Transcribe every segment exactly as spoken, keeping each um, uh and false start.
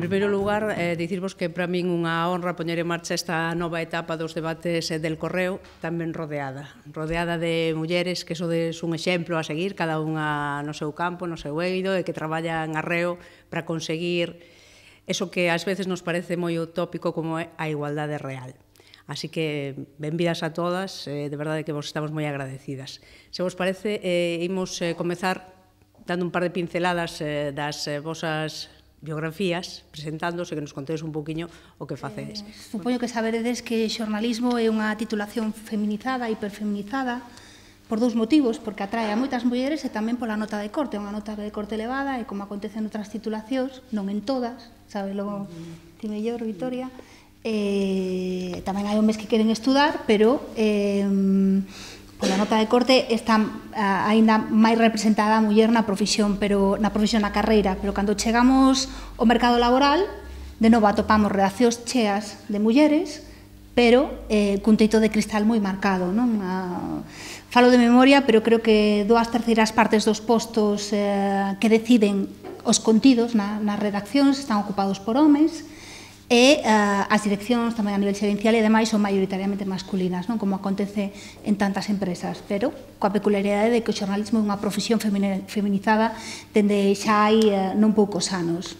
primeiro lugar, eh, dicirvos que para min unha honra poñer en marcha esta nova etapa dos debates del Correo, tamén rodeada, rodeada de mulleres que sodes un exemplo a seguir, cada unha no seu campo, no seu eido, e que traballan arreo para conseguir eso que ás veces nos parece moi utópico como é a igualdade real. Así que, benvidas a todas, eh, de verdade que vos estamos moi agradecidas. Se vos parece, eh, imos eh, comezar dando un par de pinceladas eh, das eh, vosas biografías, presentándose, que nos contedes un poquinho o que facedes. Eh, supoño que saberedes que xornalismo é unha titulación feminizada, hiperfeminizada, por dous motivos, porque atrae a moitas mulleres e tamén pola nota de corte, unha nota de corte elevada, e como acontece en outras titulacións, non en todas, sabelo ti mellor, Vitoria, eh, tamén hai homes que queren estudar, pero eh, pola nota de corte está uh, aínda máis representada a muller na profesión, pero na profesión, na carreira, pero cando chegamos ao mercado laboral, de novo atopamos redaccións cheas de mulleres, pero eh, cun teito de cristal moi marcado, non? Uh, falo de memoria, pero creo que dúas terceiras partes dos postos eh, que deciden os contidos na, nas redaccións están ocupados por homes, e uh, as direccións tamén a nivel xerencial e demais son maioritariamente masculinas, non? Como acontece en tantas empresas, pero coa peculiaridade de que o xornalismo é unha profesión feminizada dende xa hai uh, non poucos anos.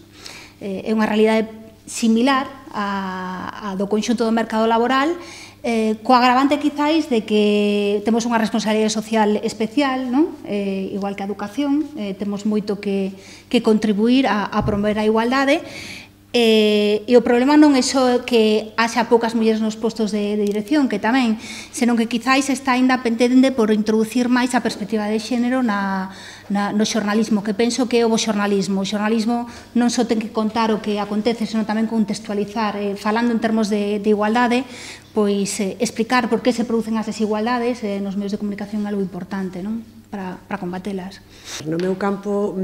Eh, é unha realidade similar a, a do conxunto do mercado laboral, eh, co agravante quizáis de que temos unha responsabilidade social especial, non? Eh, igual que a educación, eh, temos moito que, que contribuir a, a promover a igualdade. Eh, e o problema non é só que haxa poucas mulleres nos postos de, de dirección, que tamén, senón que quizáis está ainda pendente por introducir máis a perspectiva de xénero na, na, no xornalismo, que penso que é o bo xornalismo. O xornalismo non só ten que contar o que acontece, senón tamén contextualizar, eh, falando en termos de, de igualdade, pois eh, explicar por que se producen as desigualdades eh, nos medios de comunicación é algo importante, non? Para, para combatelas. No meu campo,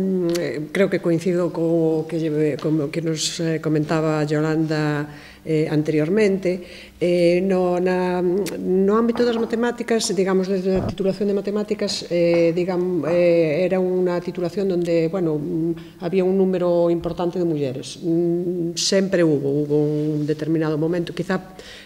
creo que coincido co que, como que nos comentaba Yolanda eh, anteriormente. Eh, no, na, no ámbito das matemáticas, digamos, desde a titulación de matemáticas, eh, digamos, eh, era unha titulación onde, bueno, había un número importante de mulleres. Sempre hubo, hubo un determinado momento, quizá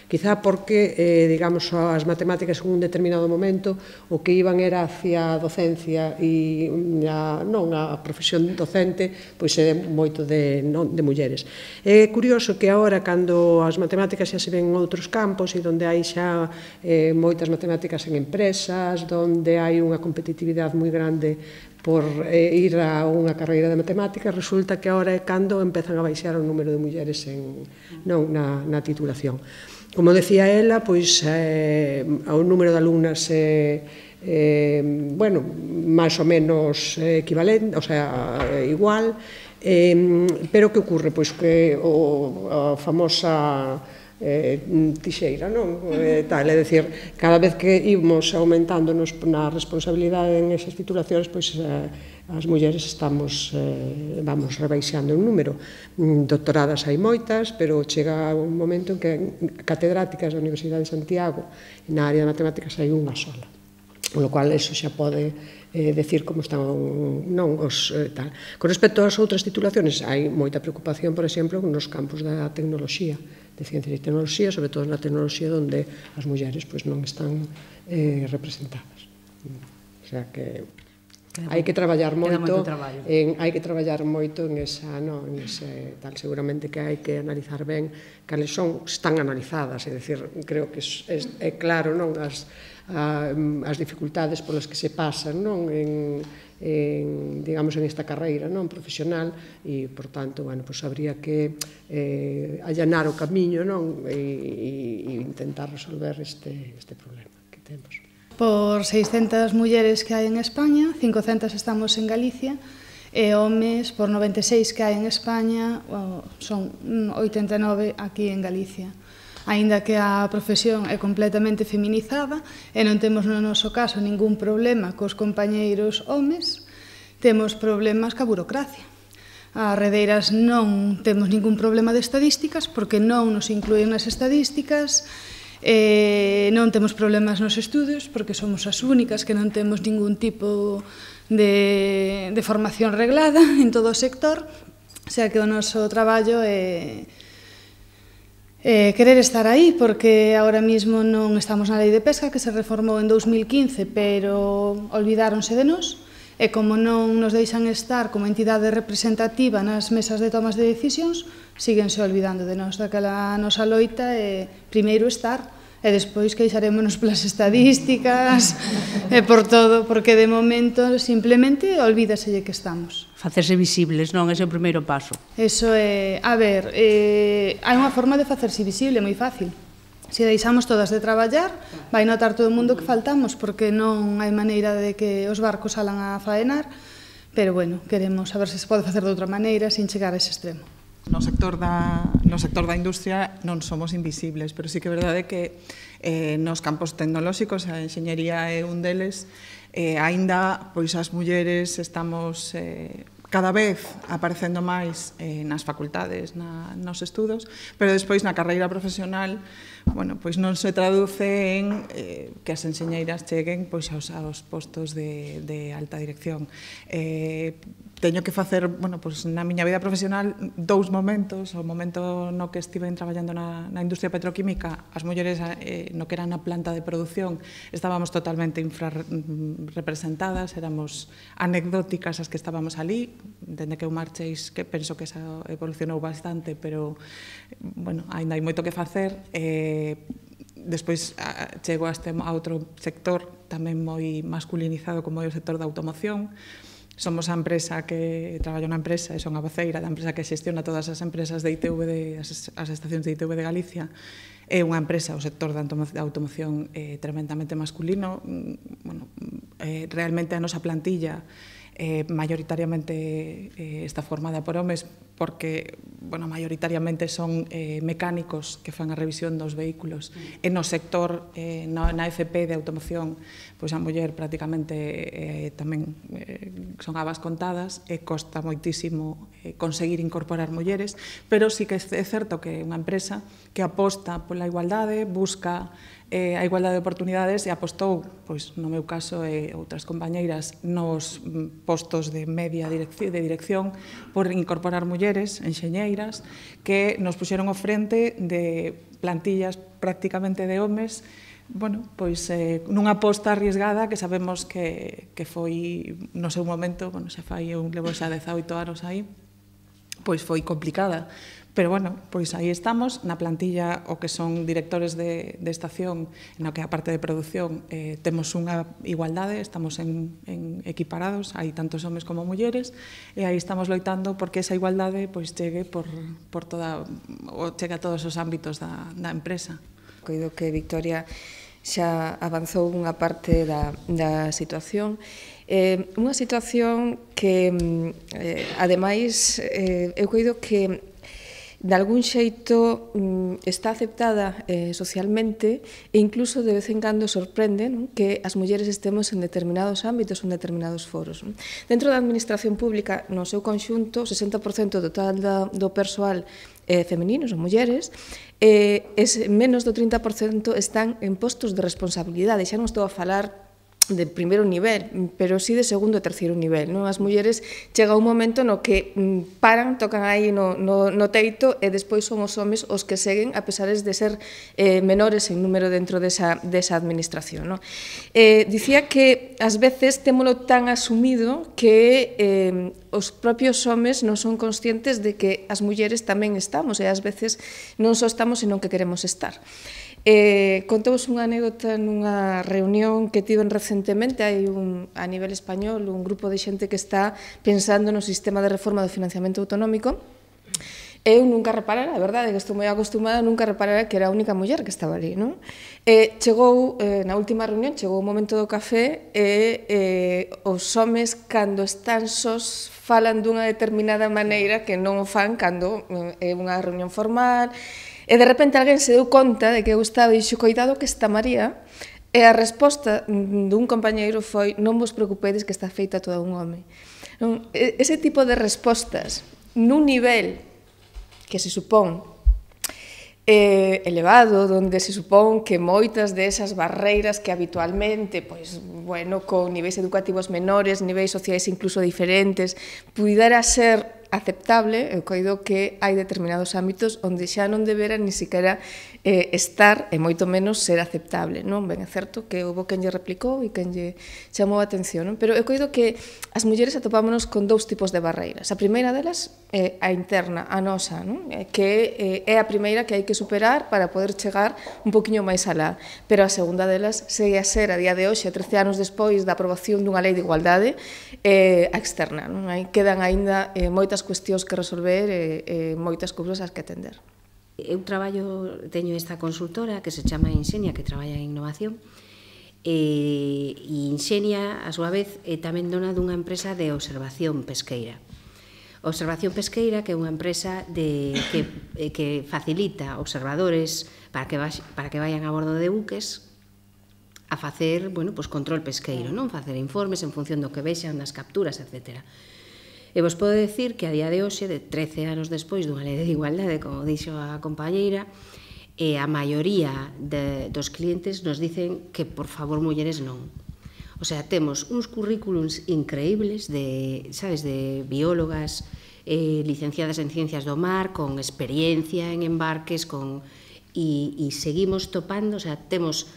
quizá porque, eh, digamos, as matemáticas en un determinado momento o que iban era hacia a docencia e a, non a profesión docente, pois é moito de, non, de mulleres. É curioso que agora, cando as matemáticas xa se ven en outros campos e onde hai xa eh, moitas matemáticas en empresas, onde hai unha competitividade moi grande por eh, ir a unha carreira de matemáticas, resulta que agora é cando empezan a baixar o número de mulleres en, non, na, na titulación. Como decía ela, pois eh, o número de alumnas é, eh, bueno, máis ou menos equivalente, o sea, igual, eh, pero que ocorre? Pois que o, a famosa eh, tixeira, non? Eh, tal, é dicir, cada vez que ímos aumentándonos na responsabilidade en esas titulacións, pois eh, as mulleres estamos, eh, vamos, rebaixando un número. Doctoradas hai moitas, pero chega un momento en que catedráticas da Universidade de Santiago na área de matemáticas hai unha sola. Con lo cual, eso xa pode eh, decir como están non os eh, tal. Con respecto ás outras titulaciones, hai moita preocupación, por exemplo, nos campos da tecnoloxía, de ciencias e tecnoloxía, sobre todo na tecnoloxía onde as mulleres pois, non están eh, representadas. O sea que hai que traballar moito, en, hai que traballar moito en esa, no, en ese tal, seguramente que hai que analizar ben cales son, están analizadas, é dicir, creo que é, é claro, non, as, a, as dificultades polas que se pasan, non, en, en, digamos, en esta carreira, non, profesional, e, por tanto, bueno, pues habría que eh, allanar o camiño, non, e, e intentar resolver este, este problema que temos. Por seiscentas mulleres que hai en España, cincocentas estamos en Galicia, e homes por noventa e seis que hai en España, son oitenta e nove aquí en Galicia. Aínda que a profesión é completamente feminizada e non temos no noso caso ningún problema cos compañeiros homes, temos problemas ca burocracia. As redeiras non temos ningún problema de estadísticas porque non nos inclúen nas estadísticas. Eh, non temos problemas nos estudios porque somos as únicas que non temos ningún tipo de, de formación reglada en todo o sector O sea que o noso traballo é eh, querer estar aí, porque agora mismo non estamos na Lei de Pesca, que se reformou en dous mil quince, pero olvidáronse de nós, e como non nos deixan estar como entidade representativa nas mesas de tomas de decisións, síguense olvidando de nós. Daquela nosa loita é primeiro estar, e despois queixarémonos polas estadísticas e por todo, porque de momento simplemente olvídaselle que estamos. Facerse visibles, non? Ese é o primeiro paso. Eso é, a ver, eh, hai unha forma de facerse visible moi fácil. Se deixamos todas de traballar, vai notar todo o mundo que faltamos, porque non hai maneira de que os barcos salan a faenar, pero bueno, queremos saber se se pode facer de outra maneira sin chegar a ese extremo. No sector da, no sector da industria non somos invisibles, pero sí que é verdade que eh, nos campos tecnolóxicos, a enxeñería é un deles, eh, aínda pois as mulleres estamos eh, cada vez aparecendo máis eh, nas facultades, na, nos estudos, pero despois na carreira profesional, bueno, pois non se traduce en eh, que as enxeñeiras cheguen pois aos, aos postos de, de alta dirección. Eh, teño que facer, bueno, pois na miña vida profesional dous momentos, o momento no que estive traballando na, na industria petroquímica, as mulleres eh, no que era na planta de produción estábamos totalmente infrarrepresentadas, éramos anecdóticas as que estábamos ali, dende que eu marcheis, que penso que esa evolucionou bastante, pero, bueno, ainda hai moito que facer. Eh, despois a, chego a, este, a outro sector tamén moi masculinizado como é o sector da automoción. Somos a empresa que traballo na empresa e son a voceira da empresa que xestiona todas as empresas de I T V, de, as, as estacións de I T V de Galicia. É unha empresa, o sector da automoción eh, tremendamente masculino. Bueno, eh, realmente a nosa plantilla eh, maioritariamente eh, está formada por homes, porque, bueno, maioritariamente son eh, mecánicos que fan a revisión dos vehículos. E no sector, eh, na, na F P de automoción, pois a muller prácticamente eh, tamén eh, son habas contadas, e costa moitísimo eh, conseguir incorporar mulleres, pero sí que é certo que é unha empresa que aposta pola igualdade, busca eh, a igualdade de oportunidades e apostou, pois no meu caso e outras compañeiras, nos postos de media dirección, de dirección por incorporar mulleres, enxeñeiras, que nos puxeron ao frente de plantillas prácticamente de homes, bueno, pois eh, nunha aposta arriesgada que sabemos que, que foi no seu momento, bueno, xa fai un levo xa dezaoito anos aí, pois foi complicada. Pero, bueno, pois aí estamos, na plantilla o que son directores de, de estación, no que a parte de produción eh, temos unha igualdade, estamos en, en equiparados, hai tantos homes como mulleres, e aí estamos loitando porque esa igualdade pois chegue por, por toda, ou chegue a todos os ámbitos da, da empresa. Coido que Victoria xa avanzou unha parte da, da situación. Eh, unha situación que, eh, ademais, eh, eu coido que de algún xeito está aceptada eh, socialmente e incluso de vez en cando sorprende, non, que as mulleres estemos en determinados ámbitos ou en determinados foros. Non? Dentro da administración pública, no seu conxunto, o sesenta por cento total da, do persoal eh, femeninos ou mulleres, eh, es, menos do trinta por cento están en postos de responsabilidade. Xa non estou a falar de primeiro nivel, pero sí de segundo e terceiro nivel. Non? As mulleres chega un momento no que paran, tocan aí no, no, no teito e despois son os homes os que seguen, a pesares de ser eh, menores en número dentro desa, desa administración. Non? Eh, dicía que ás veces témolo tan asumido que eh, os propios homes non son conscientes de que as mulleres tamén estamos e ás veces non só estamos senón que queremos estar. Eh, contovos unha anécdota nunha reunión que tiven recentemente, hai un, a nivel español un grupo de xente que está pensando no sistema de reforma do financiamento autonómico. Eu nunca reparara, a verdade, que estou moi acostumada, nunca reparara que era a única muller que estaba ali, non? E chegou, eh, na última reunión, chegou o momento do café e eh, os homes, cando están sós, falan dunha determinada maneira que non o fan cando é unha reunión formal. E de repente alguén se deu conta de que eu estaba e dixo, coidado que está María, e a resposta dun compañeiro foi, non vos preocupedes que está feita toda un home. Non? Ese tipo de respostas, nun nivel que se supón eh, elevado, onde se supón que moitas desas barreiras que habitualmente, pois, bueno, con niveis educativos menores, niveis sociais incluso diferentes, pudera ser aceptable, eu coido que hai determinados ámbitos onde xa non debera ni siquiera eh, estar e moito menos ser aceptable, non? Ben, é certo que houve quen lle replicou e quen lle chamou a atención, non? Pero eu coido que as mulleres atopámonos con dous tipos de barreiras. A primeira delas é a interna, a nosa, non? Que eh, é a primeira que hai que superar para poder chegar un poquinho máis alá. Pero a segunda delas segue a ser, a día de hoxe, trece anos despois da aprobación dunha lei de igualdade, eh, a externa, non? Aí quedan aínda eh, moitas cuestións que resolver e eh, moitas cousas ás que atender. Eu traballo, teño esta consultora que se chama Inxenia, que traballa en innovación, e, e Inxenia, a súa vez, é tamén dona dunha empresa de observación pesqueira. Observación Pesqueira, que é unha empresa de, que, que facilita observadores para que, vax, para que vayan a bordo de buques a facer, bueno, pues control pesqueiro, non? Facer informes en función do que vexan nas capturas, etcétera. E vos podo decir que a día de hoxe, de trece anos despois dunha lei de igualdade, como dixo a compañeira, e a maioría de, dos clientes nos dicen que, por favor, mulleres non. O sea, temos uns currículums increíbles de, sabes, de biólogas eh, licenciadas en Ciencias do Mar, con experiencia en embarques, con e, e seguimos topando, o sea, temos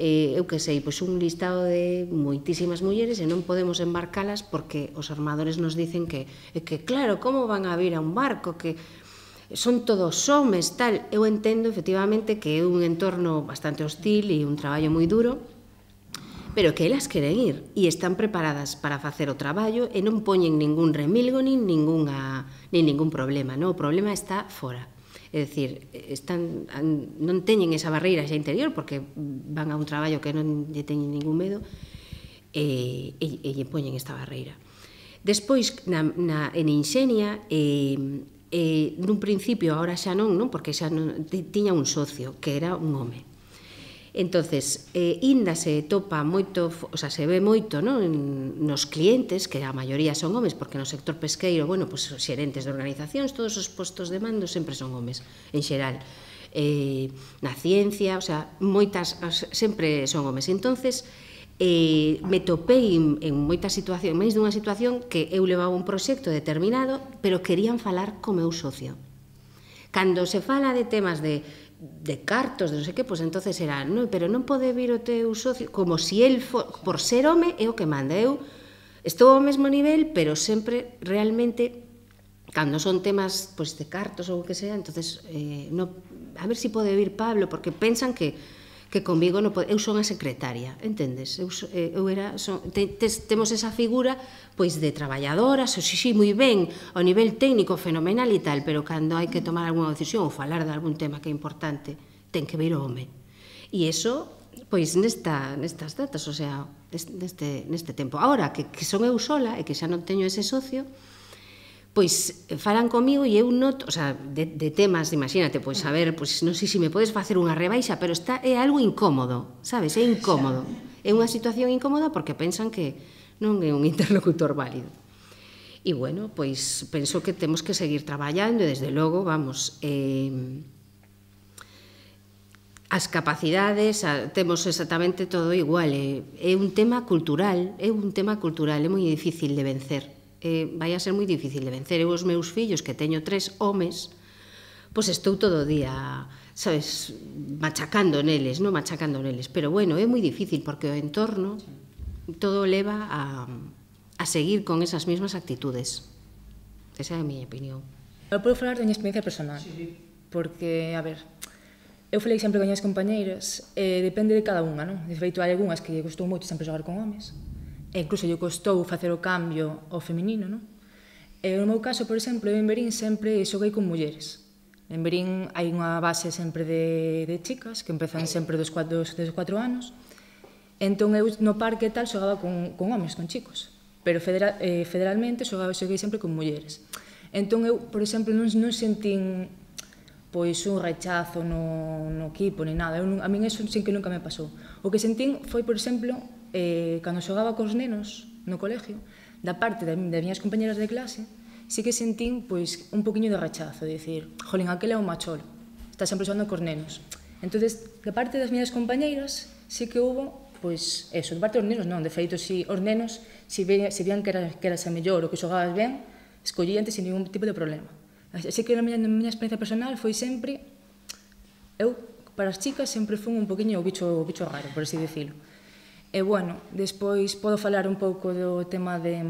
eh, eu que sei, pois un listado de moitísimas mulleres e non podemos embarcalas porque os armadores nos dicen que, que claro, como van a vir a un barco, que son todos homes, tal. Eu entendo, efectivamente, que é un entorno bastante hostil e un traballo moi duro, pero que elas queren ir e están preparadas para facer o traballo e non poñen ningún remilgo nin, ninguna, nin ningún problema, non? O problema está fora. É dicir, están, non teñen esa barreira xa interior porque van a un traballo que non lle teñen ningún medo e, e, e lle poñen esta barreira. Despois, na, na, en Inxenia, eh, eh, nun principio, agora xa non, non porque xa non, tiña un socio que era un home. Entonces, eh, inda se topa moito, o sea, se ve moito, non, nos clientes, que a maioría son homes, porque no sector pesqueiro, bueno, pues os xerentes de organizacións, todos os postos de mando sempre son homes, en xeral. Eh, na ciencia, o sea, moitas, sempre son homes. Entonces, eh, me topei en, en moitas situacións, máis dunha situación que eu levaba un proxecto determinado, pero querían falar co meu socio. Cando se fala de temas de de cartos, de non sei que, pois entonces era, no, pero non pode vir o teu socio, como si el, for, por ser home, é o que manda. Eu estou ao mesmo nivel, pero sempre, realmente, cando son temas pois, de cartos ou o que sea, entonces, eh, no, a ver si pode vir Pablo, porque pensan que que conmigo non pode, eu son a secretaria, entendes? Eu, eu era, son, te, te, temos esa figura pois de traballadora, so, sí, sí, moi ben, ao nivel técnico fenomenal e tal, pero cando hai que tomar algunha decisión ou falar de algún tema que é importante, ten que vir o home. E iso, pois nesta, nestas datas, o sea, neste, neste tempo. Agora, que, que son eu sola e que xa non teño ese socio, pois falan comigo e eu noto, o sea, de, de temas, imagínate, pois a ver, pois non sei se me podes facer unha rebaixa, pero está é algo incómodo, sabes? É incómodo. É unha situación incómoda porque pensan que non é un interlocutor válido. E bueno, pois penso que temos que seguir traballando e desde logo, vamos, eh, as capacidades, a, temos exactamente todo igual, é, é un tema cultural, é un tema cultural, é moi difícil de vencer. Eh, vai a ser moi difícil de vencer. Eu os meus fillos, que teño tres homes, pois estou todo o día, sabes, machacando neles, non machacando neles, pero bueno, é moi difícil porque o entorno todo leva a, a seguir con esas mesmas actitudes. Esa é a miña opinión. Eu podo falar da miña experiencia personal, porque, a ver, eu falei sempre con as compañeiras, e depende de cada unha, non? De feito, hai algunhas que lle gustou moito sempre xogar con homes, e incluso lle costou facer o cambio ao feminino, non? E no meu caso, por exemplo, eu en Verín sempre xoguei con mulleres. En Verín hai unha base sempre de, de chicas, que empezan sempre dos cuatro, dos cuatro anos. Entón, eu no parque tal xogaba con, con homes, con chicos. Pero federal, eh, federalmente xogaba, xoguei sempre con mulleres. Entón, eu, por exemplo, non, non sentín pois un rechazo no, no equipo, ni nada. Eu, a min eso sin que nunca me pasou. O que sentín foi, por exemplo, eh, cando xogaba cos nenos no colegio, da parte das miñas compañeras de clase, sí que sentín pois, un poquinho de rechazo, de dicir, jolín, aquel é un macholo, está sempre xogando cos nenos. Entonces, da parte das miñas compañeiras, sí que hubo, pois, eso, da parte dos nenos non, de feito, si os nenos, si, ve, si veían que, era, que eras a mellor ou que xogabas ben, escollí antes sin ningún tipo de problema. Así que na miña, na miña experiencia personal foi sempre, eu, para as chicas, sempre fui un poquinho o bicho, o bicho raro, por así decirlo. E, bueno, despois podo falar un pouco do tema de,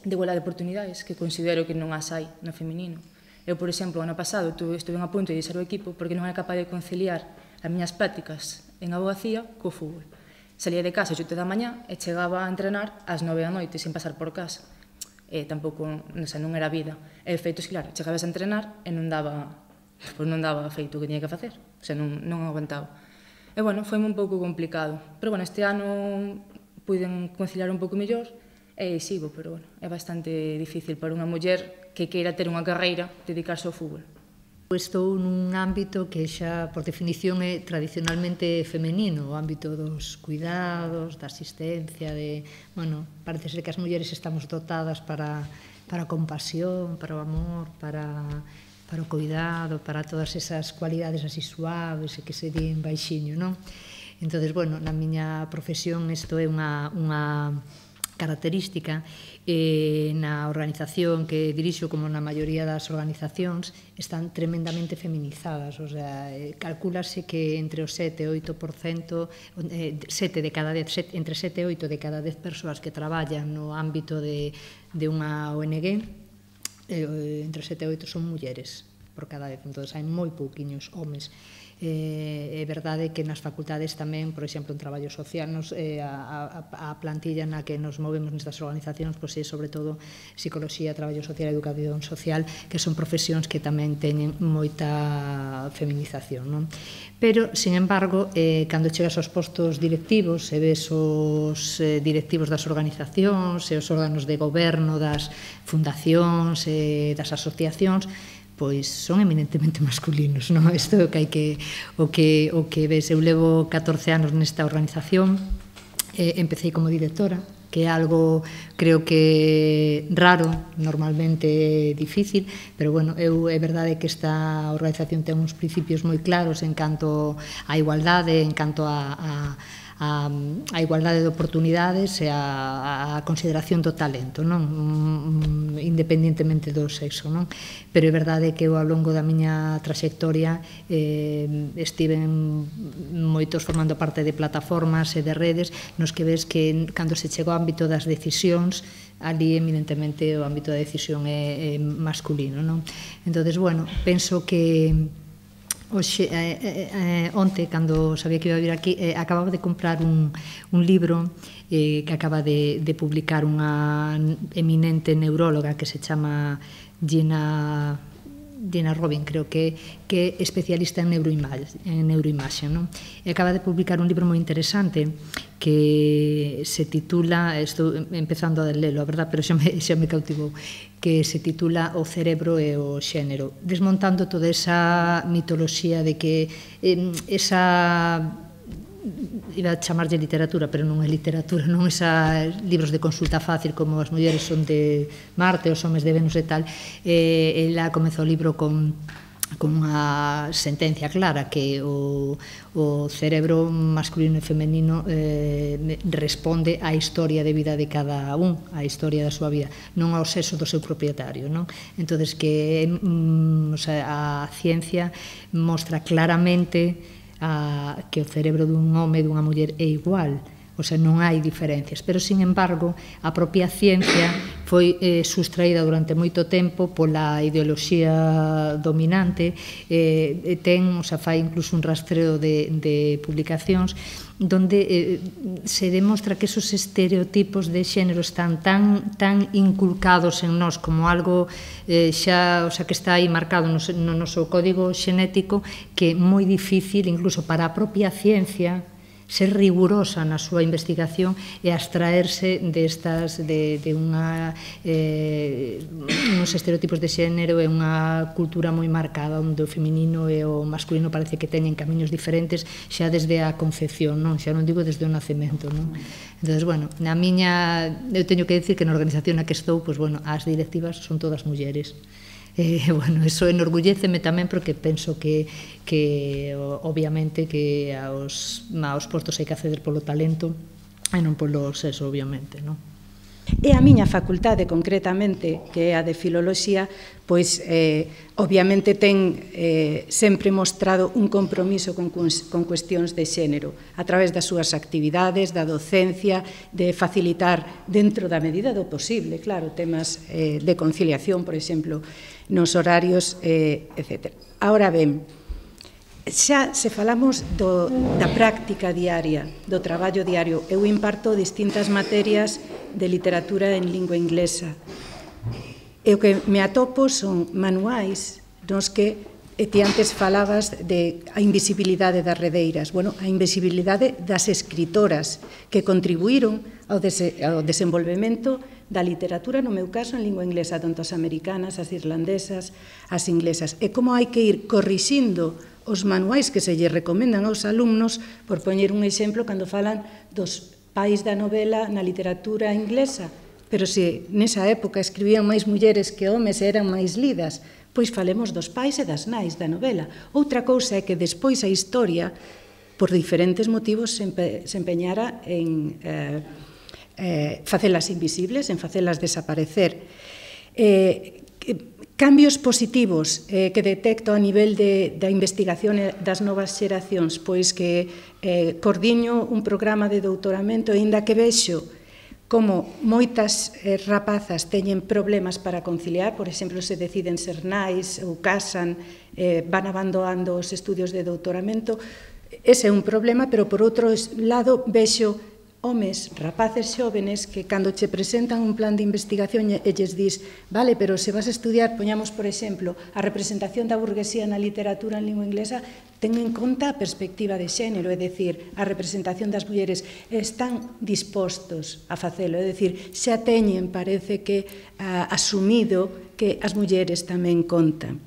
de igualdade de oportunidades, que considero que non as hai no feminino. Eu, por exemplo, ano pasado estuve a punto de deixar o equipo porque non era capaz de conciliar as miñas prácticas en abogacía co fútbol. Salía de casa ás oito da mañá e chegaba a entrenar ás nove da noite sin pasar por casa. E tampouco, non sei, non era vida. E feitos, claro, chegabas a entrenar e non daba, pois non daba feito o que tiña que facer. O sea, non, non aguantaba. E, bueno, foi un pouco complicado. Pero, bueno, este ano puiden conciliar un pouco mellor e sigo, pero, bueno, é bastante difícil para unha muller que queira ter unha carreira dedicarse ao fútbol. Estou nun ámbito que xa, por definición, é tradicionalmente femenino, o ámbito dos cuidados, da asistencia, de... Bueno, parece ser que as mulleres estamos dotadas para, para a compasión, para o amor, para, para o cuidado, para todas esas cualidades así suaves e que se din baixiño, non? Entón, bueno, na miña profesión isto é unha, unha característica. Eh, na organización que dirixo, como na maioría das organizacións, están tremendamente feminizadas, o sea, eh, calculase que entre o sete e oito por cento, eh, sete de cada dez, set, entre sete e oito de cada dez persoas que traballan no ámbito de, de unha O N G, eh, entre sete e oito son mulleres por cada dez, entón hai moi pouquiños homes. Eh, é verdade que nas facultades tamén, por exemplo, en traballo social, nos, eh, a, a, a plantilla na que nos movemos nestas organizacións, pois é sobre todo psicoloxía, traballo social e educación social, que son profesións que tamén teñen moita feminización, non? Pero, sin embargo, eh, cando chegas aos postos directivos e ves os eh, directivos das organizacións e os órganos de goberno das fundacións e das asociacións, pois son eminentemente masculinos, non? Isto é o que hai que o que o que ves. Eu levo catorce anos nesta organización, eh, empecé como directora, que é algo creo que raro, normalmente difícil, pero bueno, eu é verdade que esta organización ten uns principios moi claros en canto á igualdade, en canto a, a a, a igualdade de oportunidades e a, a consideración do talento, non? Independentemente do sexo, non? Pero é verdade que eu ao longo da miña traxectoria eh, estiven moitos formando parte de plataformas e de redes nos que ves que cando se chega ao ámbito das decisións, ali eminentemente o ámbito da decisión é, é masculino, non? Entón, bueno, penso que Oxe, eh, eh, onte, cando sabía que iba a vir aquí, eh, acababa de comprar un, un libro eh, que acaba de, de publicar unha eminente neuróloga que se chama Gina, Gina Robin, creo que, que é especialista en neuroimaxe, en neuroimaxe, non? E acaba de publicar un libro moi interesante que se titula, estou empezando a lelo, a verdad, pero xa me, xa me cautivou, que se titula O cerebro e o xénero, desmontando toda esa mitoloxía de que eh, esa, iba a chamarlle literatura, pero non é literatura, non esa libros de consulta fácil como as mulleres son de Marte, os homes de Venus e tal. Eh, ela comezou o libro con con unha sentencia clara que o, o cerebro masculino e femenino eh, responde á historia de vida de cada un, á historia da súa vida, non ao sexo do seu propietario, non? Entonces que mm, o sea, a ciencia mostra claramente a, que o cerebro dun home e dunha muller é igual, o sea, non hai diferencias, pero, sin embargo, a propia ciencia foi eh, sustraída durante moito tempo pola ideoloxía dominante, eh, ten, o sea, fai incluso un rastreo de, de publicacións donde eh, se demostra que esos estereotipos de xénero están tan, tan inculcados en nós como algo eh, xa, o sea, que está aí marcado no, no noso código xenético, que é moi difícil, incluso para a propia ciencia, ser rigurosa na súa investigación e abstraerse destas, de, de unha, eh, uns estereotipos de xénero e unha cultura moi marcada onde o feminino e o masculino parece que teñen camiños diferentes xa desde a concepción, non? Xa non digo desde o nacemento, non? Entón, bueno, na miña, eu teño que decir que na organización na que estou, pois, bueno, as directivas son todas mulleres. Eh, bueno, eso enorgulléceme tamén porque penso que, que obviamente que aos, aos postos hai que acceder polo talento e non polo sexo, obviamente, non? E a miña facultade, concretamente, que é a de Filoloxía, pois, eh, obviamente, ten eh, sempre mostrado un compromiso con, con cuestións de xénero, a través das súas actividades, da docencia, de facilitar, dentro da medida do posible, claro, temas eh, de conciliación, por exemplo, nos horarios, eh, etcétera. Ahora ben, xa se falamos do, da práctica diaria, do traballo diario. Eu imparto distintas materias de literatura en lingua inglesa. E o que me atopo son manuais nos que e ti antes falabas de a invisibilidade das redeiras. Bueno, a invisibilidade das escritoras que contribuíron ao, dese, ao desenvolvemento da literatura, no meu caso, en lingua inglesa, tanto as americanas, as irlandesas, as inglesas. E como hai que ir corrixindo os manuais que se lle recomendan aos alumnos, por poñer un exemplo, cando falan dos pais da novela na literatura inglesa, pero se nesa época escribían máis mulleres que homes e eran máis lidas, pois falemos dos pais e das nais da novela. Outra cousa é que despois a historia, por diferentes motivos, se empeñara en eh, eh, facelas invisibles, en facelas desaparecer. Eh, Cambios positivos eh, que detecto a nivel de, da investigación das novas xeracións, pois que eh, coordiño un programa de doutoramento e ainda que vexo como moitas eh, rapazas teñen problemas para conciliar, por exemplo, se deciden ser nais ou casan, eh, van abandonando os estudios de doutoramento, ese é un problema, pero por outro lado vexo homes, rapaces xóvenes, que cando che presentan un plan de investigación e lles dis, vale, pero se vas a estudiar, poñamos, por exemplo, a representación da burguesía na literatura en lingua inglesa, ten en conta a perspectiva de xénero, é dicir, a representación das mulleres, están dispostos a facelo, é dicir, xa teñen, parece que, uh, asumido que as mulleres tamén contan.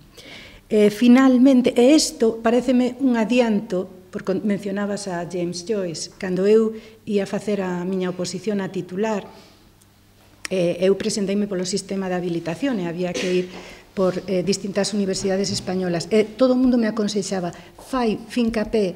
Eh, finalmente, e isto pareceme un adianto, porque mencionabas a James Joyce, cando eu ia facer a miña oposición a titular, eh, eu presenteime polo sistema de habilitación e había que ir por eh, distintas universidades españolas. E todo o mundo me aconsexaba, fai fincapé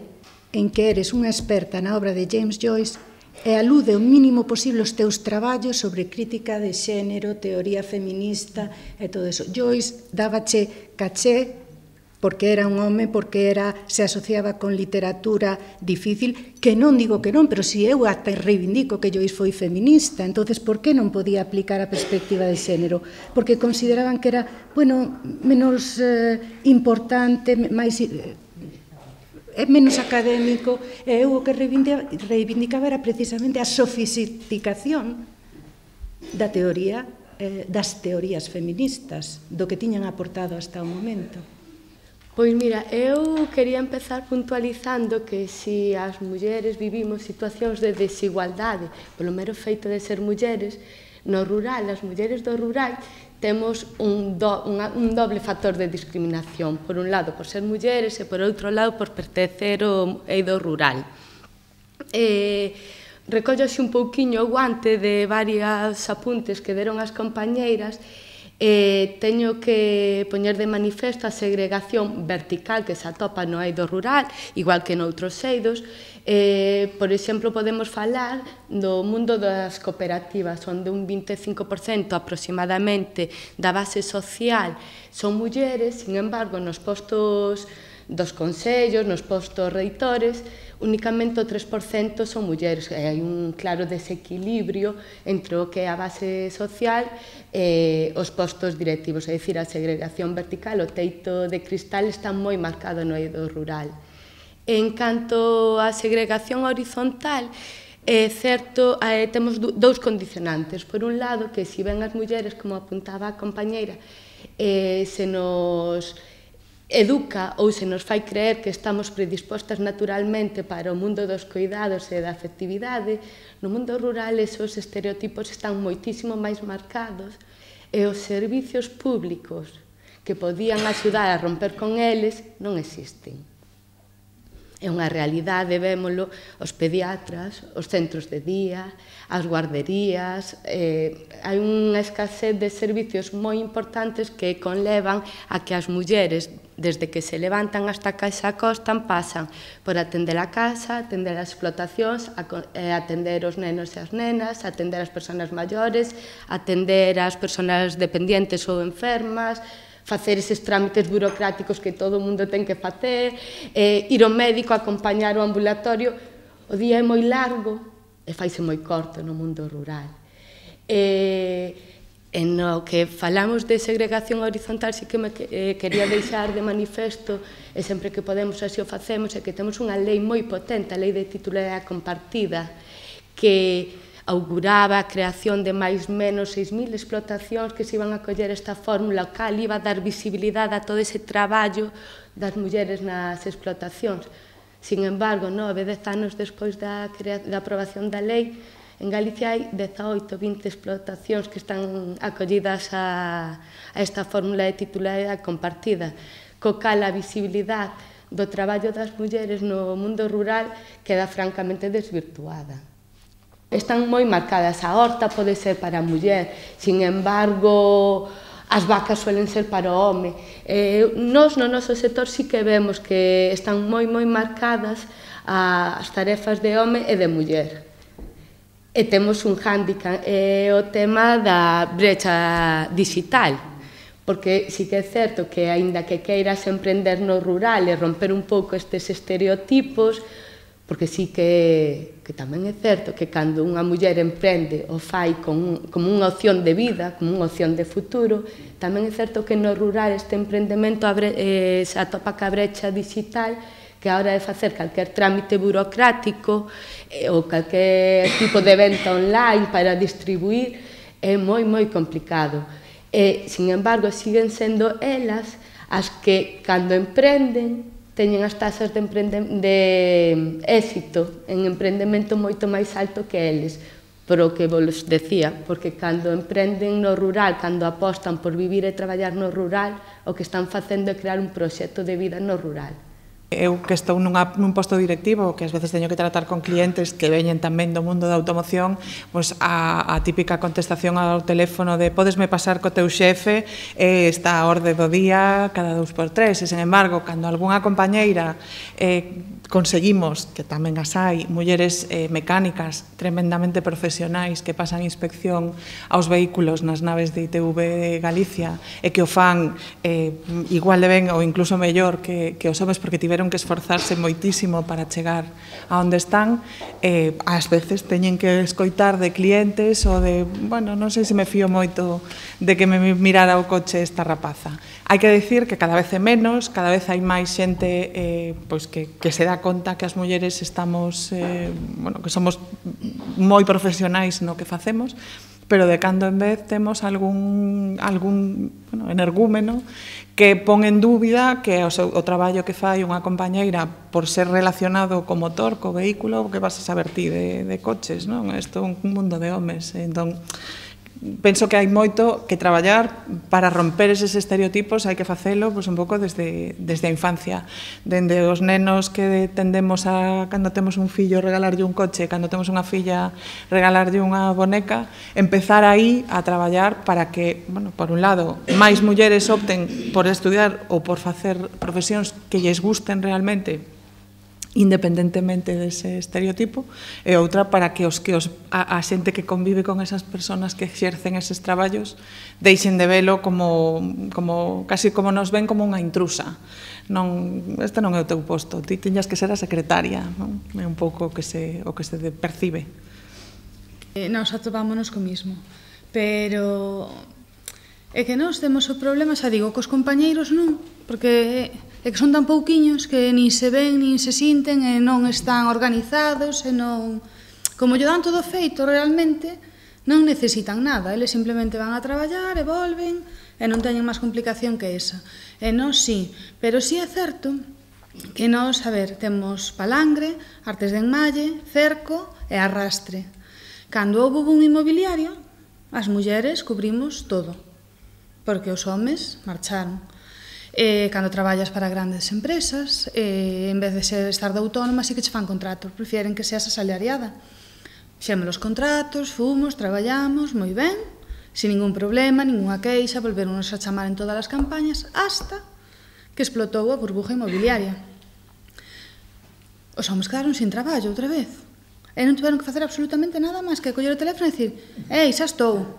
en que eres unha experta na obra de James Joyce e alude o mínimo posible os teus traballos sobre crítica de xénero, teoría feminista e todo eso. Joyce dábache caché porque era un home, porque era, se asociaba con literatura difícil, que non digo que non, pero si eu até reivindico que Joyce foi feminista, entonces por que non podía aplicar a perspectiva de xénero? Porque consideraban que era, bueno, menos eh, importante, máis eh, menos académico, e eu o que reivindicaba era precisamente a sofisticación da teoría, eh, das teorías feministas, do que tiñan aportado hasta o momento. Pois mira, eu quería empezar puntualizando que se as mulleres vivimos situacións de desigualdade polo mero feito de ser mulleres, no rural, as mulleres do rural, temos un, do, unha, un doble factor de discriminación. Por un lado, por ser mulleres e por outro lado, por pertencer ao eido rural. E recollose un pouquiño o guante de varios apuntes que deron as compañeiras. Eh, teño que poñer de manifesto a segregación vertical que se atopa no eido rural, igual que noutros eidos. Eh, por exemplo, podemos falar do mundo das cooperativas, onde un vinte e cinco por cento aproximadamente da base social son mulleres, sin embargo, nos postos dos consellos, nos postos reitores, únicamente o tres por cento son mulleres. Hai un claro desequilibrio entre o que é a base social e os postos directivos, é dicir, a segregación vertical, o teito de cristal está moi marcado no eido rural. En canto á segregación horizontal, é certo, eh, temos dous condicionantes. Por un lado, que se ven as mulleres, como apuntaba a compañeira, eh, se nos educa ou se nos fai creer que estamos predispostas naturalmente para o mundo dos cuidados e da afectividade, no mundo rural esos estereotipos están moitísimo máis marcados e os servicios públicos que podían axudar a romper con eles non existen. É unha realidade, vémolo, os pediatras, os centros de día, as guarderías, eh, hai unha escasez de servicios moi importantes que conlevan a que as mulleres, desde que se levantan hasta que se acostan, pasan por atender a casa, atender as explotacións, atender os nenos e as nenas, atender as persoas maiores, atender as persoas dependientes ou enfermas, facer eses trámites burocráticos que todo o mundo ten que facer, eh, ir ao médico, acompañar o ambulatorio. O día é moi largo e faise moi corto no mundo rural. E, e no que falamos de segregación horizontal, sí que me eh, quería deixar de manifesto, e sempre que podemos así o facemos, é que temos unha lei moi potente, a lei de titularidade compartida, que auguraba a creación de máis menos seis mil explotacións que se iban a coller esta fórmula, o cal iba a dar visibilidade a todo ese traballo das mulleres nas explotacións. Sin embargo, nove, dez anos despois da, da aprobación da lei, en Galicia hai dezaoito, vinte explotacións que están acollidas a, a esta fórmula de titularidade compartida, co cal a visibilidade do traballo das mulleres no mundo rural queda francamente desvirtuada. Están moi marcadas, a horta pode ser para a muller, sin embargo, as vacas suelen ser para o home. Eh, nos, no noso sector, sí que vemos que están moi, moi marcadas as tarefas de home e de muller. E temos un hándicap, é o tema da brecha digital, porque sí que é certo que, aínda que queiras emprender no rural e romper un pouco estes estereotipos, porque sí que, que tamén é certo que cando unha muller emprende o fai con, como unha opción de vida, como unha opción de futuro, tamén é certo que no rural este emprendemento abre, eh, se atopa ca brecha digital, que a hora de facer calquer trámite burocrático eh, ou calquer tipo de venta online para distribuir é moi, moi complicado. E, sin embargo, siguen sendo elas as que, cando emprenden, teñen as tasas de, de éxito en emprendemento moito máis alto que eles, por o que vos decía, porque cando emprenden no rural, cando apostan por vivir e traballar no rural, o que están facendo é crear un proxecto de vida no rural. Eu que estou nunha, nun posto directivo, que ás veces teño que tratar con clientes que veñen tamén do mundo da automoción, pois a, a típica contestación ao teléfono de podesme pasar co teu xefe, eh, está a orde do día cada dous por tres, e, sen embargo, cando algunha compañeira eh, conseguimos, que tamén as hai, mulleres eh, mecánicas tremendamente profesionais que pasan inspección aos vehículos nas naves de I T V de Galicia e que o fan eh, igual de ben ou incluso mellor que, que os homes, porque tiveron que esforzarse moitísimo para chegar a onde están, eh, ás veces teñen que escoitar de clientes ou de, bueno, non sei se me fío moito de que me mirara o coche esta rapaza. Hai que dicir que cada vez é menos, cada vez hai máis xente eh, pois que, que se dá conta que as mulleres estamos, eh, bueno, que somos moi profesionais no que facemos, pero de cando en vez temos algún, algún bueno, energúmeno que pon en dúbida que o, seu, o traballo que fai unha compañeira por ser relacionado co motor, co vehículo, que vas a saber ti de, de coches, non? Isto é un mundo de homes, entón penso que hai moito que traballar para romper eses estereotipos, hai que facelo pois, un pouco desde, desde a infancia, dende os nenos que tendemos a, cando temos un fillo, regalarlle un coche, cando temos unha filla, regalarlle unha boneca, empezar aí a traballar para que, bueno, por un lado, máis mulleres opten por estudiar ou por facer profesións que lles gusten realmente, independentemente dese estereotipo, e outra para que os que os, a, a xente que convive con esas persoas que exercen eses traballos deixen de velo como, como casi como nos ven como unha intrusa. Non, este non é o teu posto, ti tiñas que ser a secretaria, non? É un pouco o que se, o que se percibe. Eh, nos atopámonos co mismo, pero é que nós temos o problema, xa digo, cos compañeiros non, porque é que son tan pouquiños que nin se ven, nin se sinten, e non están organizados, e non... Como lle dan todo feito realmente, non necesitan nada, eles simplemente van a traballar e volven, e non teñen máis complicación que esa. E nós sí, pero sí é certo que nós, a ver, temos palangre, artes de enmalle, cerco e arrastre. Cando houve un inmobiliario, as mulleres cubrimos todo, porque os homes marcharon. Eh, cando traballas para grandes empresas, eh, en vez de ser, estar de autónoma, sí que che fan contratos, prefieren que seas asalariada. Fixemos os contratos, fomos, traballamos, moi ben, sin ningún problema, ninguna queixa, volveronos a chamar en todas as campañas, hasta que explotou a burbuja inmobiliaria. Os homens quedaron sin traballo outra vez. E non tiveron que facer absolutamente nada máis que coller o teléfono e dicir: «Ei, xa estou,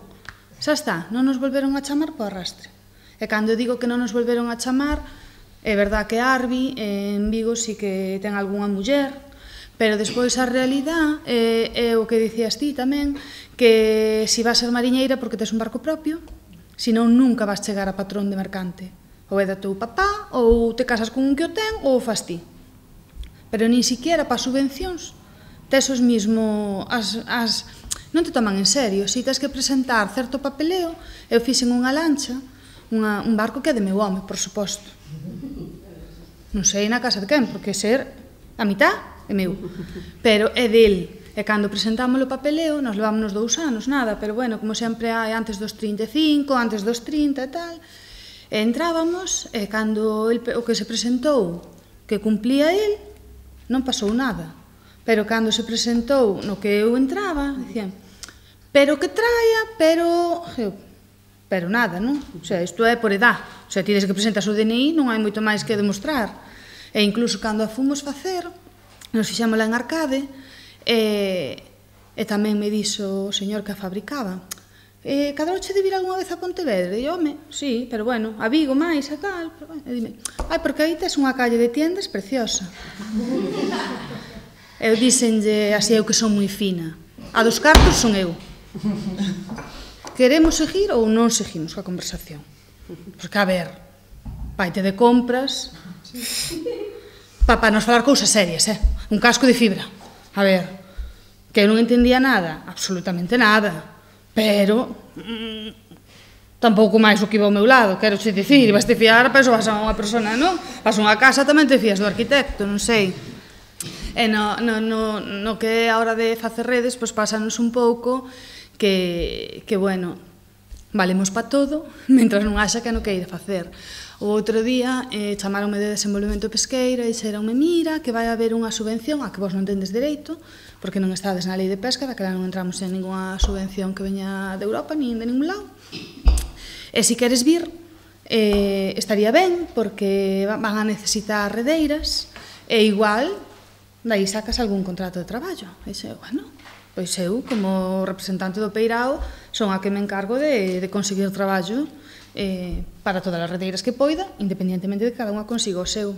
xa está», non nos volveron a chamar po arrastre. E cando digo que non nos volveron a chamar, é verdad que Arbi en Vigo sí que ten algunha muller, pero despois a realidade é, é o que dicías ti tamén, que si vas ser mariñeira porque tes un barco propio, senón nunca vas chegar a patrón de mercante. Ou é da teu papá, ou te casas con un que o ten, ou o fas ti. Pero nin siquiera para subvencións tes os mismo, as, as, non te toman en serio. Si tes que presentar certo papeleo, eu fixen unha lancha, unha, un barco que é de meu home, por suposto. Non sei na casa de quen, porque ser a mitad é meu. Pero é del. E cando presentamos o papeleo, nos levámonos dous anos, nada, pero bueno, como sempre hai antes dos trinta e cinco, antes dos trinta e tal, e entrábamos, e cando el, o que se presentou que cumplía el, non pasou nada. Pero cando se presentou no que eu entraba, dicían, pero que traia, pero... Pero nada, non? O sea, isto é por edad. O sea, ti desde que presentas o D N I non hai moito máis que demostrar. E incluso cando a fomos facer, nos fixámola en Arcade, e, e tamén me dixo o señor que a fabricaba, eh, cadroche de vir algunha vez a Pontevedra? E home, sí, pero bueno, a Vigo máis e tal. Pero, bueno, e dime, ai, porque aí tes unha calle de tiendas preciosa. Eu díxenlle así, eu que son moi fina. A dos cartos son eu. Queremos seguir ou non seguimos coa conversación? Porque, a ver, vaite de compras para pa nos falar cousas serias, eh? Un casco de fibra. A ver, que eu non entendía nada, absolutamente nada, pero mmm, tampouco máis o que iba ao meu lado, quero xe dicir, vas te fiar, pero vas a unha persona, non? Vas a unha casa, tamén te fías do arquitecto, non sei. E no, no, no, no que é a hora de facer redes, pois pásanos un pouco que, que bueno, valemos pa todo, mentras non haxa que non queira facer. O outro día eh, chamaronme de desenvolvemento pesqueiro e dixeronme, mira, que vai haber unha subvención a que vos non tendes dereito, porque non estades na lei de pesca, daquela non entramos en ninguna subvención que veña de Europa, nin de ningún lado. E se queres vir, eh, estaría ben, porque van a necesitar redeiras, e igual, daí sacas algún contrato de traballo. E xe, bueno, pois eu, como representante do Peirao, son a que me encargo de, de conseguir traballo eh, para todas as redeiras que poida, independientemente de que cada unha consiga o seu.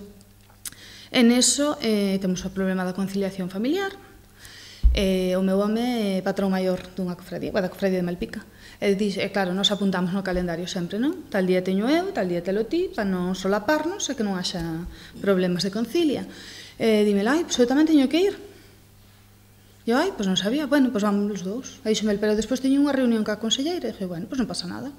En eso eh, temos o problema da conciliación familiar. Eh, o meu home é patrón maior dunha cofradía, da cofradía de Malpica. E, dixe, e claro, nos apuntamos no calendario sempre, non? Tal día teño eu, tal día telo ti, para non solaparnos e que non haxa problemas de concilia. E dime, ai, pois eu tamén teño que ir. E eu, ai, pois non sabía, bueno, pois vamos os dous. Aí xome, pero despois teño unha reunión ca conselleira e dije, bueno, pois non pasa nada.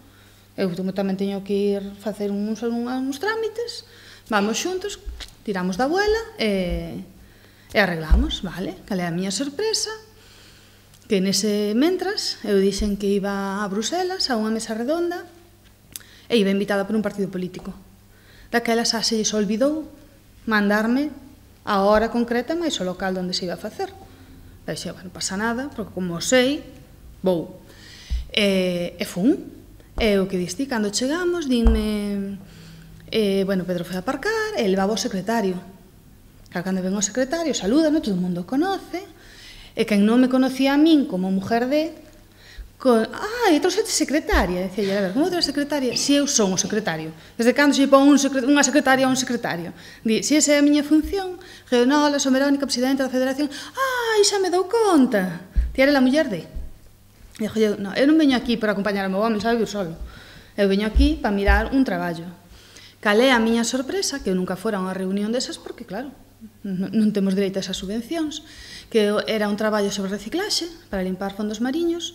Eu tamén teño que ir facer uns, uns trámites, vamos xuntos, tiramos da abuela e, e arreglamos, vale? Cal é a miña sorpresa? Que nese mentras eu dixen que iba a Bruselas a unha mesa redonda e iba invitada por un partido político. Daquelas a se lles olvidou mandarme a hora concreta máis o local onde se iba a facer. E dixo, bueno, non pasa nada, porque como sei, vou. E, e fun. E o que diste, cando chegamos, dime, eh, bueno, Pedro foi a aparcar, e levaba o secretario. Claro, cando ven o secretario, saluda, no? Todo o mundo o conoce, e quen non me conocía a min como mujer de... Con, ah, e trouxete secretaria. Decía, a ver, como outra secretaria? Si eu son o secretario. Desde cando se pon un secret, unha secretaria a un secretario? Di, si esa é a miña función, Reonola, son Verónica, presidenta da Federación. Ah, xa me dou conta. Ti era a muller de... E dixo, eu, no, eu non veño aquí para acompañar ao meu home, sabe vir solo. Eu veño aquí para mirar un traballo. Cal é a miña sorpresa, que eu nunca fora a unha reunión desas, porque, claro, non, non temos dereito a esas subvencións, que era un traballo sobre reciclaxe, para limpar fondos mariños,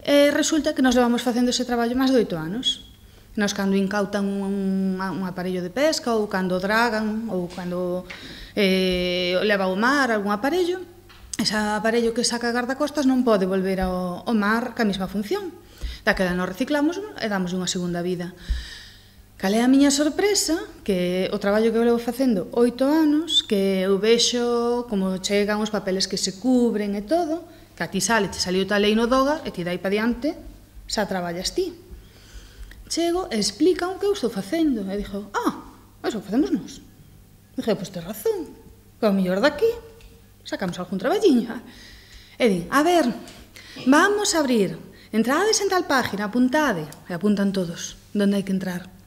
e resulta que nos levamos facendo ese traballo máis de oito anos. Nos cando incautan un, un aparello de pesca, ou cando dragan, ou cando eh, leva ao mar algún aparello, ese aparello que saca gardacostas non pode volver ao, ao mar ca mesma función. Daquela nos reciclamos e damos unha segunda vida. Cal é a miña sorpresa? Que o traballo que eu levo facendo oito anos, que eu vexo como chegan os papeles que se cubren e todo, que a ti sale, te saliu tal lei no DOGA, e ti dai pa diante, xa traballas ti. Chego e explican o que eu estou facendo, e dixo, ah, eso facemos nós. Dixo, pois tes razón, que ao mellor daqui sacamos algún traballiño. E di, a ver, vamos a abrir, entrades en tal página, apuntade, e apuntan todos, onde hai que entrar.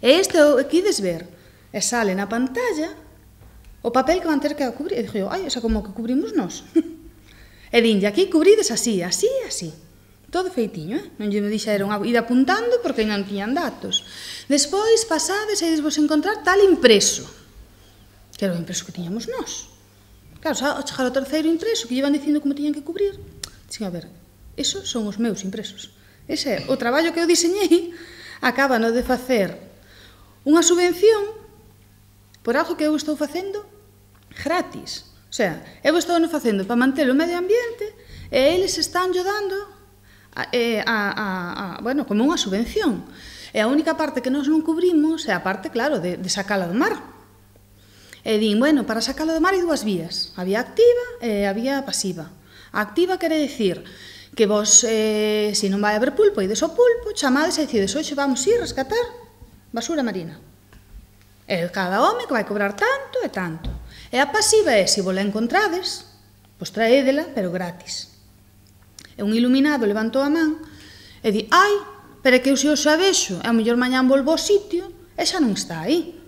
E este o que ides ver, e sale na pantalla o papel que van ter que cubrir. E dixo, ai, esa como que cubrimos nós. E dinlle, aquí cubrides así, así, así. Todo feitiño, eh? Non lle me dixeron ir apuntando porque non tiñan datos. Despois, pasades e vos encontrar tal impreso. Que era o impreso que tiñamos nós. Claro, ao chegar ao terceiro impreso, que llevan dicindo como tiñan que cubrir, dixen, a ver, esos son os meus impresos. Ese é o traballo que eu diseñei, acaba no de facer unha subvención por algo que eu estou facendo gratis. O sea, eu estou facendo para manter o medio ambiente e eles están dando a, a, a, a, bueno, como unha subvención. E a única parte que nós non cubrimos é a parte, claro, de, de sacala do mar. E din, bueno, para sacala do mar hai dúas vías. Había activa e había pasiva. A activa quere dicir que vos, eh, se non vai haber pulpo, ides ao pulpo, chamades e decides, hoxe vamos ir rescatar basura marina. E cada home que vai cobrar tanto e tanto. E a pasiva é, se vola encontrades, pois traédela, pero gratis. E un iluminado levantou a man e di, ai, pero que eu se o xa vexo, e a mellor mañán volvo ao sitio, e xa non está aí.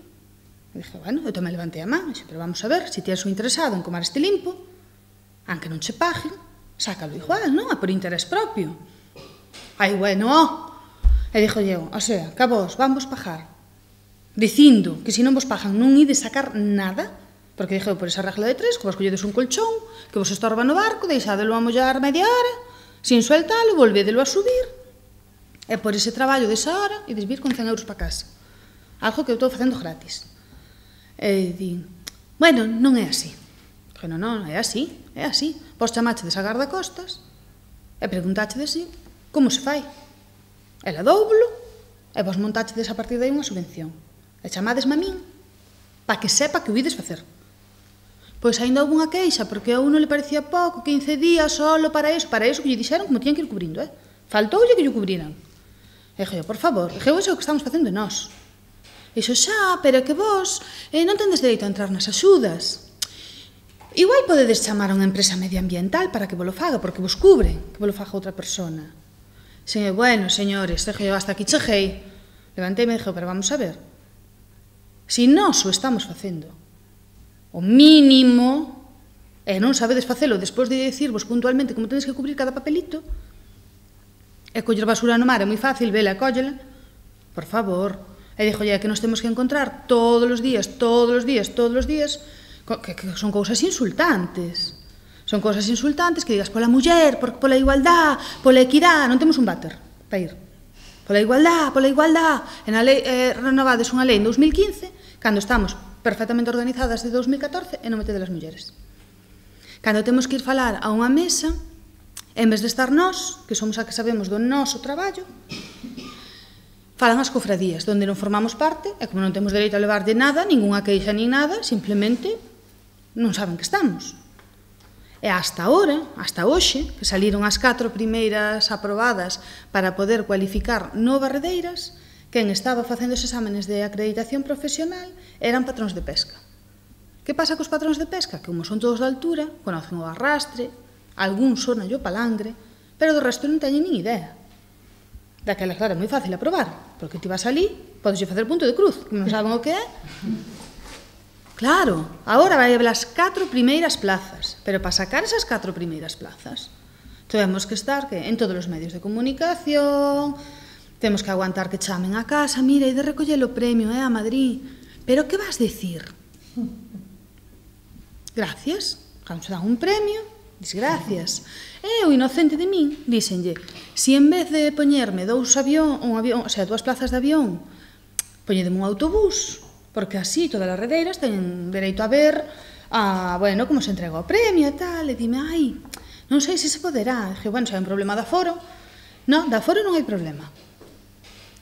E dije, bueno, eu tamén levantei a man, e dije, pero vamos a ver, se tienes o interesado en comar este limpo, aunque non che paguen, sácalo igual, non? É por interés propio. Ai, bueno, ó. E dixo eu, o sea, que a vos vamos pagar dicindo que se non vos pagan non ides sacar nada, porque dixo por esa regla de tres, que vos colledes un colchón, que vos estorba no barco, deixadelo a mollar media hora, sin sueltalo, volvedelo a subir, e por ese traballo desa hora, ides vir con cen euros para casa. Algo que eu estou facendo gratis. E di, bueno, non é así. Dixo, non, non, é así, é así. Vos chamachedes a gardacostas e preguntachedes si, como se fai? Ela doublo, e vos montachedes a partir de aí unha subvención. E chamadesme a min, para que sepa que o ides facer. Pois ainda houve unha queixa, porque a uno le parecía pouco, quince días solo para iso, para iso que lle dixeron como tiñan que ir cubrindo, eh? Faltoulle que lle cubriran. E dixo, por favor, dixo, iso é o que estamos facendo nós. E dixo, xa, pero que vos eh, non tendes dereito a entrar nas axudas. Igual podedes chamar a unha empresa medioambiental para que vos lo faga, porque vos cubre, que vos lo faga outra persona. Xe, bueno, señores, dixo, hasta aquí cheguei. Levantei e me dixo, pero vamos a ver. Si nós o estamos facendo, o mínimo, e non sabedes facelo despois de dicirvos puntualmente como tedes que cubrir cada papelito, e coller basura no mar é moi fácil, vela e cóllela, por favor. E dixo, que nos temos que encontrar todos os días, todos os días, todos os días, que, que son cousas insultantes. Son cousas insultantes que digas pola muller, por, pola igualdad, pola equidad, non temos un váter para ir. Pola igualdad, pola igualdad. En a lei, eh, renovades unha lei en dos mil quince, cando estamos perfectamente organizadas de dos mil catorce e non metedes as mulleres. Cando temos que ir falar a unha mesa, en vez de estar nós, que somos a que sabemos do noso traballo, falan as cofradías, onde non formamos parte, e como non temos dereito a levar de nada, ningunha queixa nin nada, simplemente non saben que estamos. E hasta ahora, hasta hoxe, que saliron as catro primeiras aprobadas para poder cualificar no Barredeiras, quen estaba facendo os exámenes de acreditación profesional eran patróns de pesca. Que pasa cos patróns de pesca? Que como son todos de altura, conocen o arrastre, algún sonan o palangre, pero do resto non teñen nin idea. Daquela, claro, é moi fácil aprobar, porque ti vas ali, podes facer punto de cruz, que non saben o que é. Claro, agora vai haber as catro primeiras plazas, pero para sacar esas catro primeiras plazas temos que estar que en todos os medios de comunicación, temos que aguantar que chamen a casa, mira, e de recoller o premio, eh, a Madrid. Pero que vas dicir? Gracias, cando se dan un premio, dis gracias. E o inocente de min, díxenlle, si en vez de poñerme dous avión, un avión, o sea, dúas plazas de avión, poñedeme un autobús, porque así todas as redeiras teñen dereito a ver a, bueno, como se entrega o premio e tal, e dime, ai, non sei se se poderá. E dije, bueno, se hai un problema de aforo, non, de aforo non hai problema.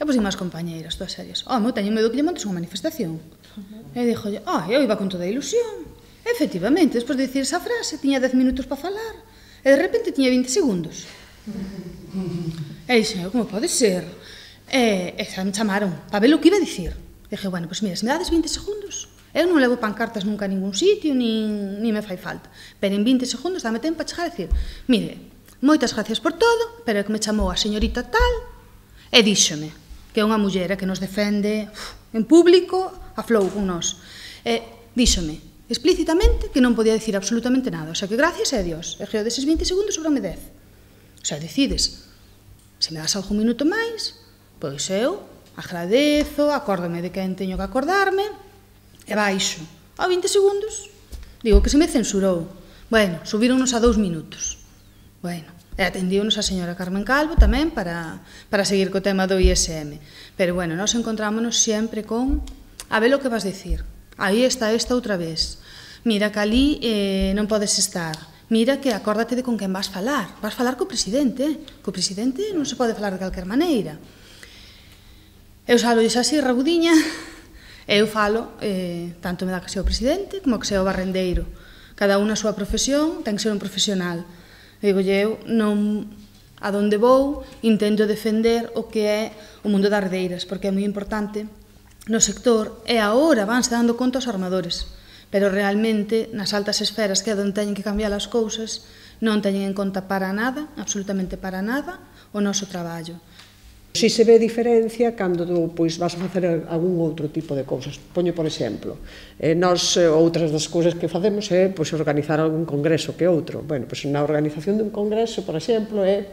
E pois as compañeiras, todas serias. Oh, eu teño medo que lle montes unha manifestación. E dixo, oh, eu iba con toda a ilusión. Efectivamente, despois de dicir esa frase, tiña dez minutos para falar. E de repente tiña vinte segundos. E dixen, como pode ser? E, e xa me chamaron para ver o que iba a dicir. E dije, bueno, pois mira, se me dades vinte segundos, eu non levo pancartas nunca a ningún sitio, nin, nin me fai falta. Pero en vinte segundos dame tempo para chegar a dicir, mire, moitas gracias por todo, pero é que me chamou a señorita tal e díxome que é unha mullera que nos defende uf, en público, a flou con nós. E díxome explícitamente que non podía dicir absolutamente nada. O sea, que gracias a Dios. E eu deses vinte segundos sobrame dez. O sea, decides, se me das algún minuto máis, pois eu agradezo, acórdame de quen teño que acordarme, e baixo. A vinte segundos, digo que se me censurou. Bueno, subíronos a dous minutos. Bueno, e atendíonos a señora Carmen Calvo tamén para, para seguir co tema do I S M. Pero bueno, nos encontrámonos sempre con a ver o que vas dicir. Aí está esta outra vez. Mira que ali eh, non podes estar. Mira que acórdate de con quen vas falar. Vas falar co presidente. Co presidente non se pode falar de calquer maneira. Eu salo así, rabudiña, e eu falo, eh, tanto me dá que sea o presidente como que sea o barrendeiro. Cada unha a súa profesión, ten que ser un profesional. Digo, eu non, a donde vou, intento defender o que é o mundo das redeiras, porque é moi importante no sector, e agora vanse dando conta os armadores, pero realmente nas altas esferas, que é onde teñen que cambiar as cousas, non teñen en conta para nada, absolutamente para nada, o noso traballo. Si se ve diferencia cando pois, vas a facer algún outro tipo de cousas. Poño, por exemplo, eh, nós, outras das cousas que facemos é pois, organizar algún congreso que outro. Bueno, pois, na organización dun congreso, por exemplo, é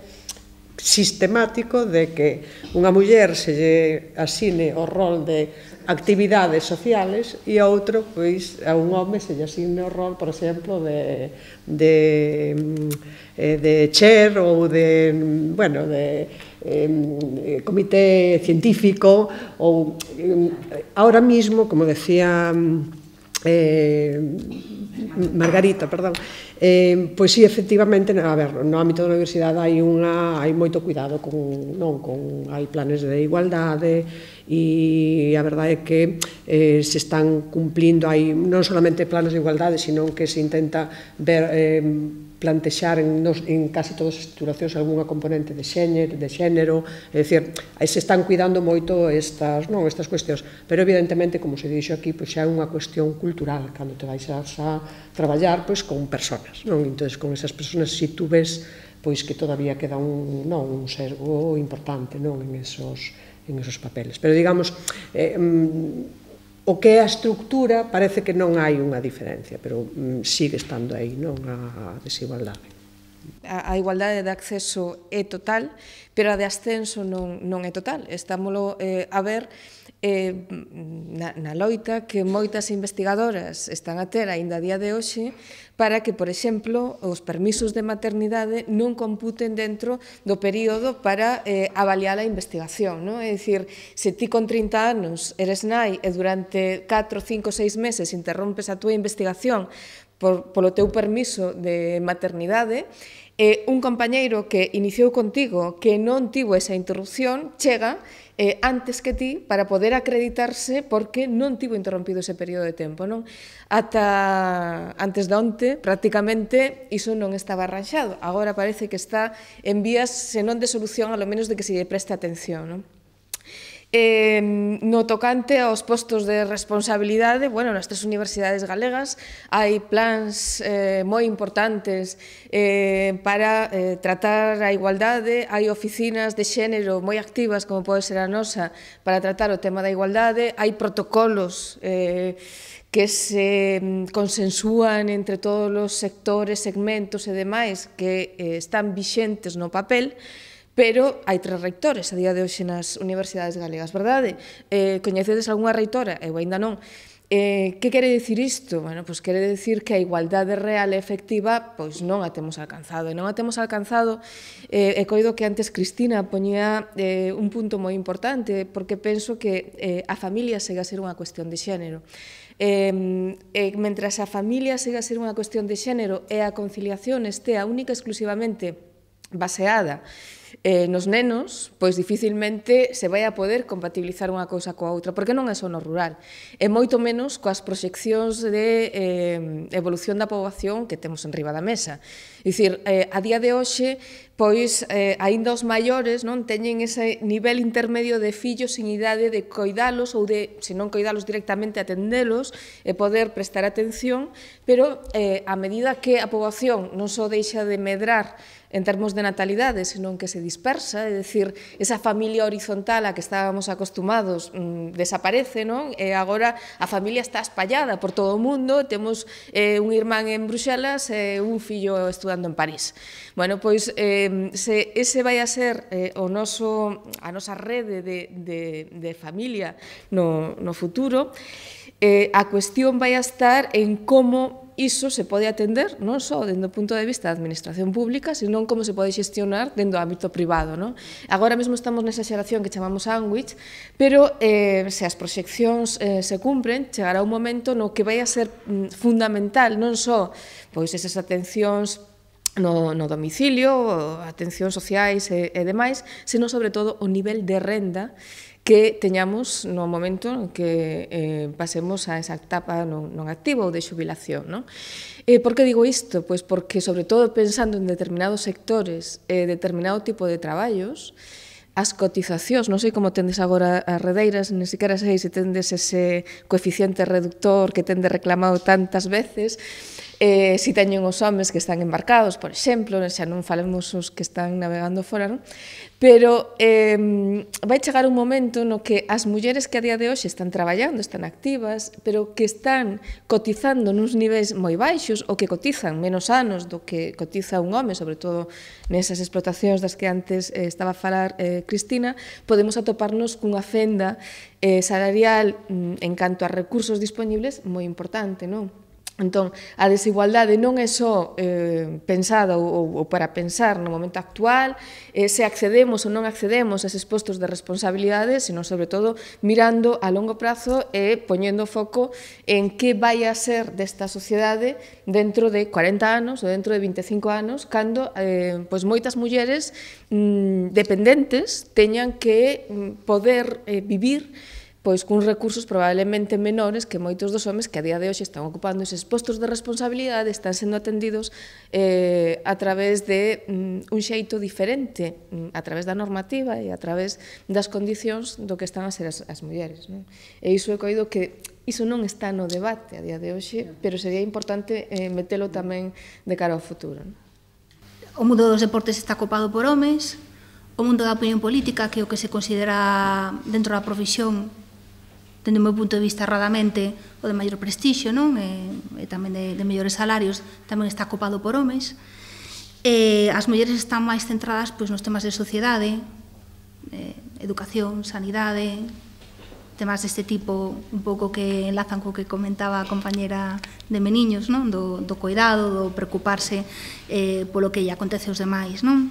sistemático de que unha muller se lle asine o rol de actividades sociales e a outro, pois, a un home se lle asine o rol, por exemplo, de, de, de chair ou de, bueno, de eh, comité científico ou eh, ahora mismo, como decía eh, Margarita, perdón, eh, pois sí, efectivamente, a ver, no ámbito da universidade hai unha hai moito cuidado con, non, con hai planes de igualdade e a verdade é que eh, se están cumplindo, hai non solamente planes de igualdade, sino que se intenta ver eh, plantexar en, nos, en casi todas as titulacións algunha componente de xénero, de xénero, é dicir, se están cuidando moito estas, non, estas cuestións, pero evidentemente, como se dixo aquí, pois xa é unha cuestión cultural, cando te vais a, a traballar pois con persoas, non? Entón, con esas persoas, se si tú ves pois que todavía queda un, non, un sesgo importante, non, en esos, en esos papeles. Pero digamos, eh, o que é a estructura parece que non hai unha diferencia, pero mm, sigue estando aí, non, a desigualdade. A, a igualdade de acceso é total, pero a de ascenso non, non é total. Estámoslo eh, a ver eh, na, na loita que moitas investigadoras están a ter aínda a día de hoxe para que, por exemplo, os permisos de maternidade non computen dentro do período para eh, avaliar a investigación, non? É dicir, se ti con trinta anos eres nai e durante catro, cinco, seis meses interrompes a túa investigación por, polo teu permiso de maternidade, eh, un compañeiro que iniciou contigo que non tivo esa interrupción chega eh, antes que ti para poder acreditarse porque non tivo interrompido ese período de tempo, non? Ata antes de onte, prácticamente, iso non estaba arranxado. Agora parece que está en vías, se non de solución, a lo menos de que se lle preste atención, non? Eh, no tocante aos postos de responsabilidade, bueno, nas tres universidades galegas hai plans eh, moi importantes eh, para eh, tratar a igualdade, hai oficinas de xénero moi activas, como pode ser a nosa, para tratar o tema da igualdade, hai protocolos eh, que se consensúan entre todos os sectores, segmentos e demais que eh, están vixentes no papel, pero hai tres reitores a día de hoxe nas universidades galegas, verdade? Eh, coñecedes algunha reitora? Eu ainda non. Eh, que quere dicir isto? Bueno, pois quere dicir que a igualdade real e efectiva pois non a temos alcanzado. E non a temos alcanzado, eh, e coido que antes Cristina poñía eh, un punto moi importante, porque penso que eh, a familia segue a ser unha cuestión de xénero. Eh, eh, mentras a familia segue a ser unha cuestión de xénero e a conciliación estea única e exclusivamente baseada eh, nos nenos, pois dificilmente se vai a poder compatibilizar unha cousa coa outra, porque non é só no rural, e moito menos coas proxeccións de eh, evolución da poboación que temos en riba da mesa. É dicir, eh, a día de hoxe, pois, eh, aínda os maiores non teñen ese nivel intermedio de fillos sin idade de coidalos ou de, se non coidalos directamente, atendelos e poder prestar atención, pero eh, a medida que a poboación non só deixa de medrar en termos de natalidade, senón que se dispersa, é dicir, esa familia horizontal a que estábamos acostumados mmm, desaparece, non? E agora a familia está espallada por todo o mundo, temos eh, un irmán en Bruxelas e un fillo estudando en París. Bueno, pois, eh, se ese vai a ser eh, o noso, a nosa rede de, de, de familia no, no futuro, eh, a cuestión vai a estar en como iso se pode atender non só dende o punto de vista da administración pública, senón como se pode xestionar dentro do ámbito privado. Non? Agora mesmo estamos nesa xeración que chamamos sándwich, pero eh, se as proxeccións eh, se cumpren, chegará un momento no que vai a ser mm, fundamental non só pois esas atencións no, no domicilio, atencións sociais e, e demais, senón sobre todo o nivel de renda que teñamos no momento en que eh, pasemos a esa etapa non, non activa ou de xubilación. Non? Eh, por que digo isto? Pois porque, sobre todo, pensando en determinados sectores e eh, determinado tipo de traballos, as cotizacións, non sei como tendes agora as redeiras, nem sequera sei se tendes ese coeficiente reductor que tendes reclamado tantas veces, eh, si teñen os homes que están embarcados, por exemplo, xa non falemos os que están navegando fora, non? Pero eh, vai chegar un momento no que as mulleres que a día de hoxe están traballando, están activas, pero que están cotizando nuns niveis moi baixos ou que cotizan menos anos do que cotiza un home, sobre todo nesas explotacións das que antes eh, estaba a falar eh, Cristina, podemos atoparnos cunha fenda eh, salarial mm, en canto a recursos disponibles moi importante, non? Entón, a desigualdade non é só eh, pensada ou, ou para pensar no momento actual, eh, se accedemos ou non accedemos a eses postos de responsabilidade, senón, sobre todo, mirando a longo prazo e poñendo foco en que vai a ser desta sociedade dentro de corenta anos ou dentro de vinte e cinco anos, cando eh, pois moitas mulleres mm, dependentes teñan que mm, poder eh, vivir pois cuns recursos probablemente menores que moitos dos homes que a día de hoxe están ocupando eses postos de responsabilidade, están sendo atendidos eh, a través de mm, un xeito diferente, mm, a través da normativa e a través das condicións do que están a ser as, as mulleres. Non? E iso é coido que iso non está no debate a día de hoxe, pero sería importante eh, metelo tamén de cara ao futuro. Non? O mundo dos deportes está copado por homes, o mundo da opinión política, que é o que se considera dentro da profesión, dende o meu punto de vista erradamente, o de maior prestixio, non? E, e tamén de, de mellores salarios, tamén está copado por homes. E as mulleres están máis centradas pois, nos temas de sociedade, eh, educación, sanidade, temas deste tipo, un pouco que enlazan co que comentaba a compañera de Meniños, non? Do, do cuidado, do preocuparse eh, polo que lle acontece aos demais, non?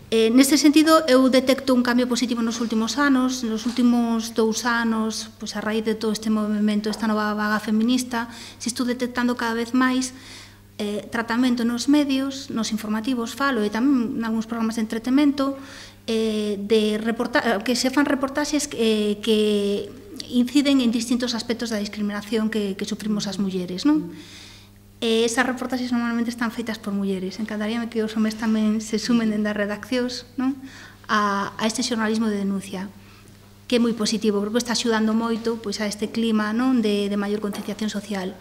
Eh, neste sentido, eu detecto un cambio positivo nos últimos anos. Nos últimos dous anos, pois a raíz de todo este movimento, esta nova vaga feminista, se estou detectando cada vez máis eh, tratamento nos medios, nos informativos, falo, e tamén en algúns programas de entretemento, eh, de reporta que se fan reportaxes eh, que inciden en distintos aspectos da discriminación que, que sufrimos as mulleres, non? E esas reportaxes normalmente están feitas por mulleres. Encantaríame que os homes tamén se sumen dende as redaccións, non? A, a este xornalismo de denuncia, que é moi positivo, porque está axudando moito pois, a este clima non? De, de maior concienciación social.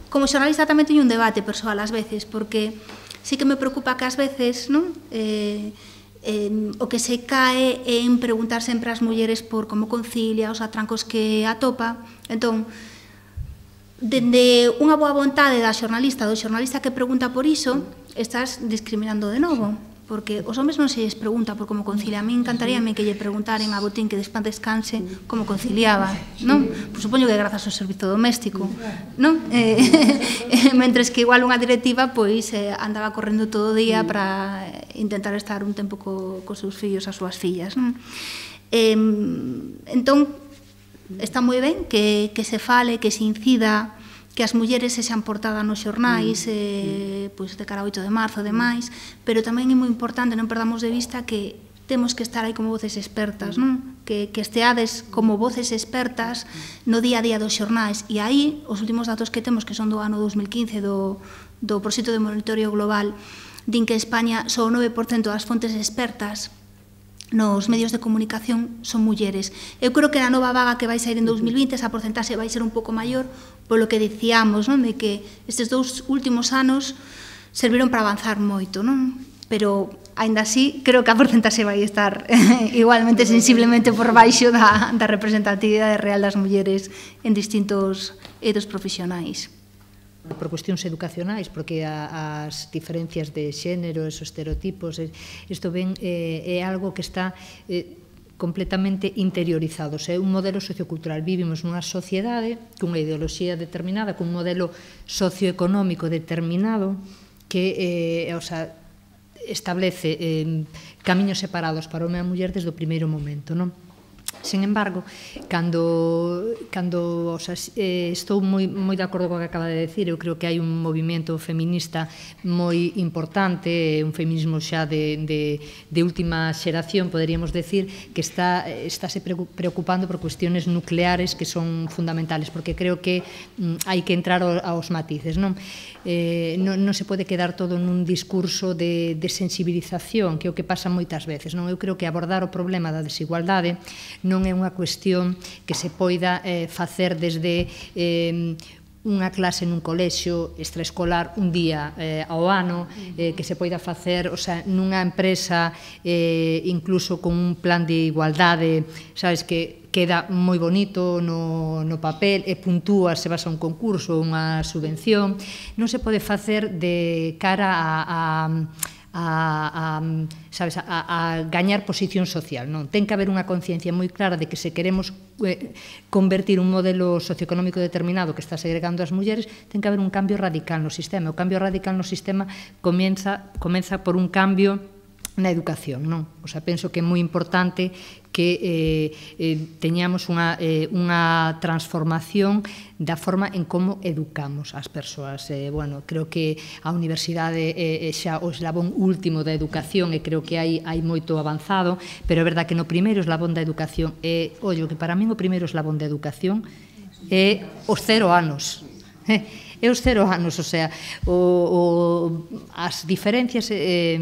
Como xornalista tamén teño un debate persoal ás veces, porque sí que me preocupa que ás veces non? Eh, eh, o que se cae en preguntar sempre ás mulleres por como concilia, os atrancos que atopa. Entón, dende unha boa vontade da xornalista, do xornalista que pregunta por iso, estás discriminando de novo, porque os homes non se lles pregunta por como concilia. A mí encantaríame que lle preguntaren a Botín que despan descanse como conciliaba, non? Pues supoño que grazas ao servizo doméstico, non? Eh, mentres que igual unha directiva pois eh, andaba correndo todo o día para intentar estar un tempo co, co seus fillos, as súas fillas, non? Eh, entón, está moi ben que, que se fale, que se incida, que as mulleres se xan portadas nos xornais, eh, pois de cara ao oito de marzo e demais, pero tamén é moi importante non perdamos de vista que temos que estar aí como voces expertas, non? Que, que esteades como voces expertas no día a día dos xornais. E aí, os últimos datos que temos, que son do ano dos mil quince, do, do proxecto de monitoreo global, din que España só o nove por cento das fontes expertas nos medios de comunicación son mulleres. Eu creo que na nova vaga que vai sair en dos mil vinte esa porcentaxe vai ser un pouco maior, polo que dicíamos, non? De que estes dous últimos anos serviron para avanzar moito, non? Pero, aínda así, creo que a porcentaxe vai estar igualmente sensiblemente por baixo da, da representatividade real das mulleres en distintos eidos profesionais. Por cuestións educacionais, porque a, as diferencias de xénero, esos estereotipos, isto ben, eh, é algo que está eh, completamente interiorizados. É un modelo sociocultural. Vivimos nunha sociedade cunha ideoloxía determinada, cun modelo socioeconómico determinado que, eh, o sea, establece eh, camiños separados para o home e a muller desde o primeiro momento, non? Sen embargo, cando, cando o sea, eh, estou moi, moi de acordo co que acaba de decir, eu creo que hai un movimento feminista moi importante, un feminismo xa de, de, de última xeración, poderíamos decir, que está estáse preocupando por cuestiones nucleares que son fundamentales, porque creo que mm, hai que entrar aos matices, non? Eh, non, non se pode quedar todo nun discurso de, de sensibilización, que é o que pasa moitas veces, non? Eu creo que abordar o problema da desigualdade non é unha cuestión que se poida eh, facer desde eh, unha clase nun colexio extraescolar un día eh, ao ano, eh, que se poida facer, o sea, nunha empresa eh, incluso con un plan de igualdade, sabes, que queda moi bonito no, no papel e puntúa se vas a un concurso, unha subvención. Non se pode facer de cara a, a A, a, sabes, a, a gañar posición social, non? Ten que haber unha conciencia moi clara de que se queremos eh, convertir un modelo socioeconómico determinado que está segregando as mulleres, ten que haber un cambio radical no sistema. O cambio radical no sistema comienza, comeza por un cambio na educación, non? O sea, penso que é moi importante que eh, eh, teñamos unha, eh, unha transformación da forma en como educamos as persoas. Eh, bueno, creo que a universidade é eh, xa o eslabón último da educación e creo que hai, hai moito avanzado, pero é verdad que no primeiro eslabón da educación é, ollo, que para min o primeiro eslabón da educación é os cero anos. É os cero anos, o sea, o, o, as diferencias... Eh,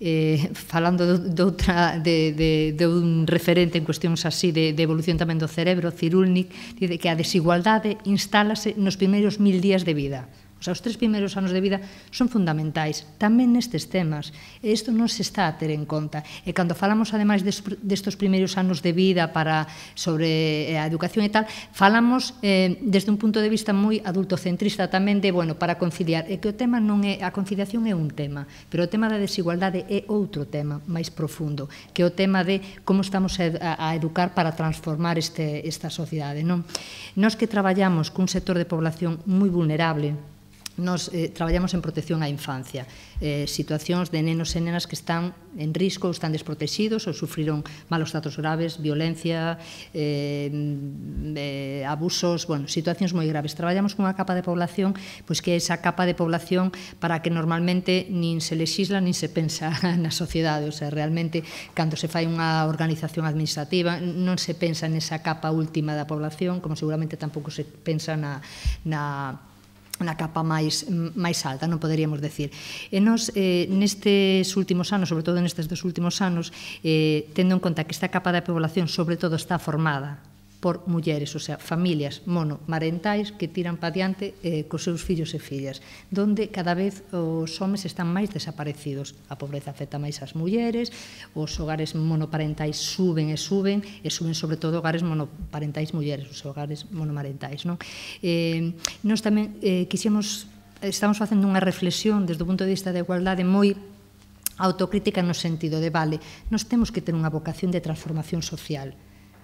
Eh, falando de, de, outra, de, de, de un referente en cuestións así de, de evolución tamén do cerebro, Cyrulnik, dice que a desigualdade instálase nos primeiros mil días de vida. O sea, os tres primeiros anos de vida son fundamentais, tamén nestes temas. E isto non se está a ter en conta. E cando falamos, ademais, destos primeiros anos de vida para sobre a educación e tal, falamos eh, desde un punto de vista moi adultocentrista tamén de, bueno, para conciliar. E que o tema non é, a conciliación é un tema, pero o tema da desigualdade é outro tema máis profundo, que é o tema de como estamos a, a educar para transformar este, esta sociedade, non? Nós que traballamos cun sector de población moi vulnerable, nos eh, traballamos en protección á infancia, eh, situacións de nenos e nenas que están en risco ou están desprotegidos ou sufriron malos tratos graves, violencia, eh, eh, abusos, bueno, situacións moi graves. Traballamos cunha capa de población, pois que é esa capa de población para que normalmente nin se lexisla nin se pensa na sociedade, o sea, realmente, cando se fai unha organización administrativa, non se pensa nesa capa última da población, como seguramente tampouco se pensa na, na na capa máis, máis alta, non poderíamos decir. E nos, eh, nestes últimos anos, sobre todo nestes dos últimos anos, eh, tendo en conta que esta capa da población sobre todo está formada por mulleres, o sea, familias monomarentais que tiran pa diante eh, cos seus fillos e fillas, donde cada vez os homes están máis desaparecidos. A pobreza afecta máis as mulleres, os hogares monoparentais suben e suben, e suben sobre todo hogares monoparentais mulleres, os hogares monomarentais, non? Eh, nos tamén eh, quixemos, estamos facendo unha reflexión desde o punto de vista da igualdade moi autocrítica no sentido de, vale, nos temos que ter unha vocación de transformación social.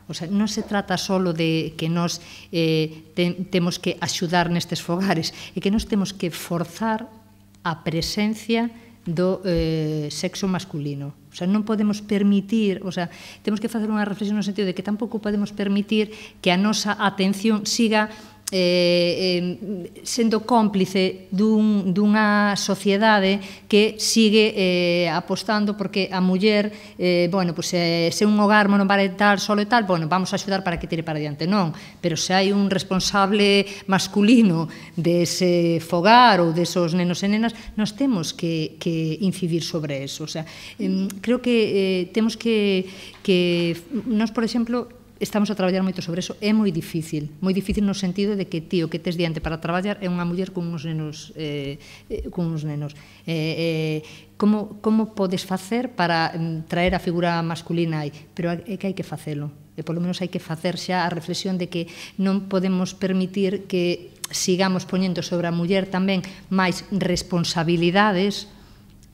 O sea, non se trata solo de que nos eh, te, temos que axudar nestes fogares, e que nos temos que forzar a presencia do eh, sexo masculino. O sea, non podemos permitir, o sea, temos que facer unha reflexión no sentido de que tampouco podemos permitir que a nosa atención siga eh, eh, sendo cómplice dun, dunha sociedade que sigue eh, apostando porque a muller, eh, bueno, pues, eh, se un hogar monoparental solo e tal, bueno, vamos a axudar para que tire para diante, non, pero se hai un responsable masculino dese fogar ou desos nenos e nenas, nós temos que, que incidir sobre eso, o sea, eh, creo que eh, temos que, que nós, por exemplo, estamos a traballar moito sobre eso, é moi difícil, moi difícil no sentido de que ti o que tes diante para traballar é unha muller con uns nenos, eh, con uns nenos. Eh, eh, como, como podes facer para traer a figura masculina aí? Pero é que hai que facelo, e polo menos hai que facer xa a reflexión de que non podemos permitir que sigamos poñendo sobre a muller tamén máis responsabilidades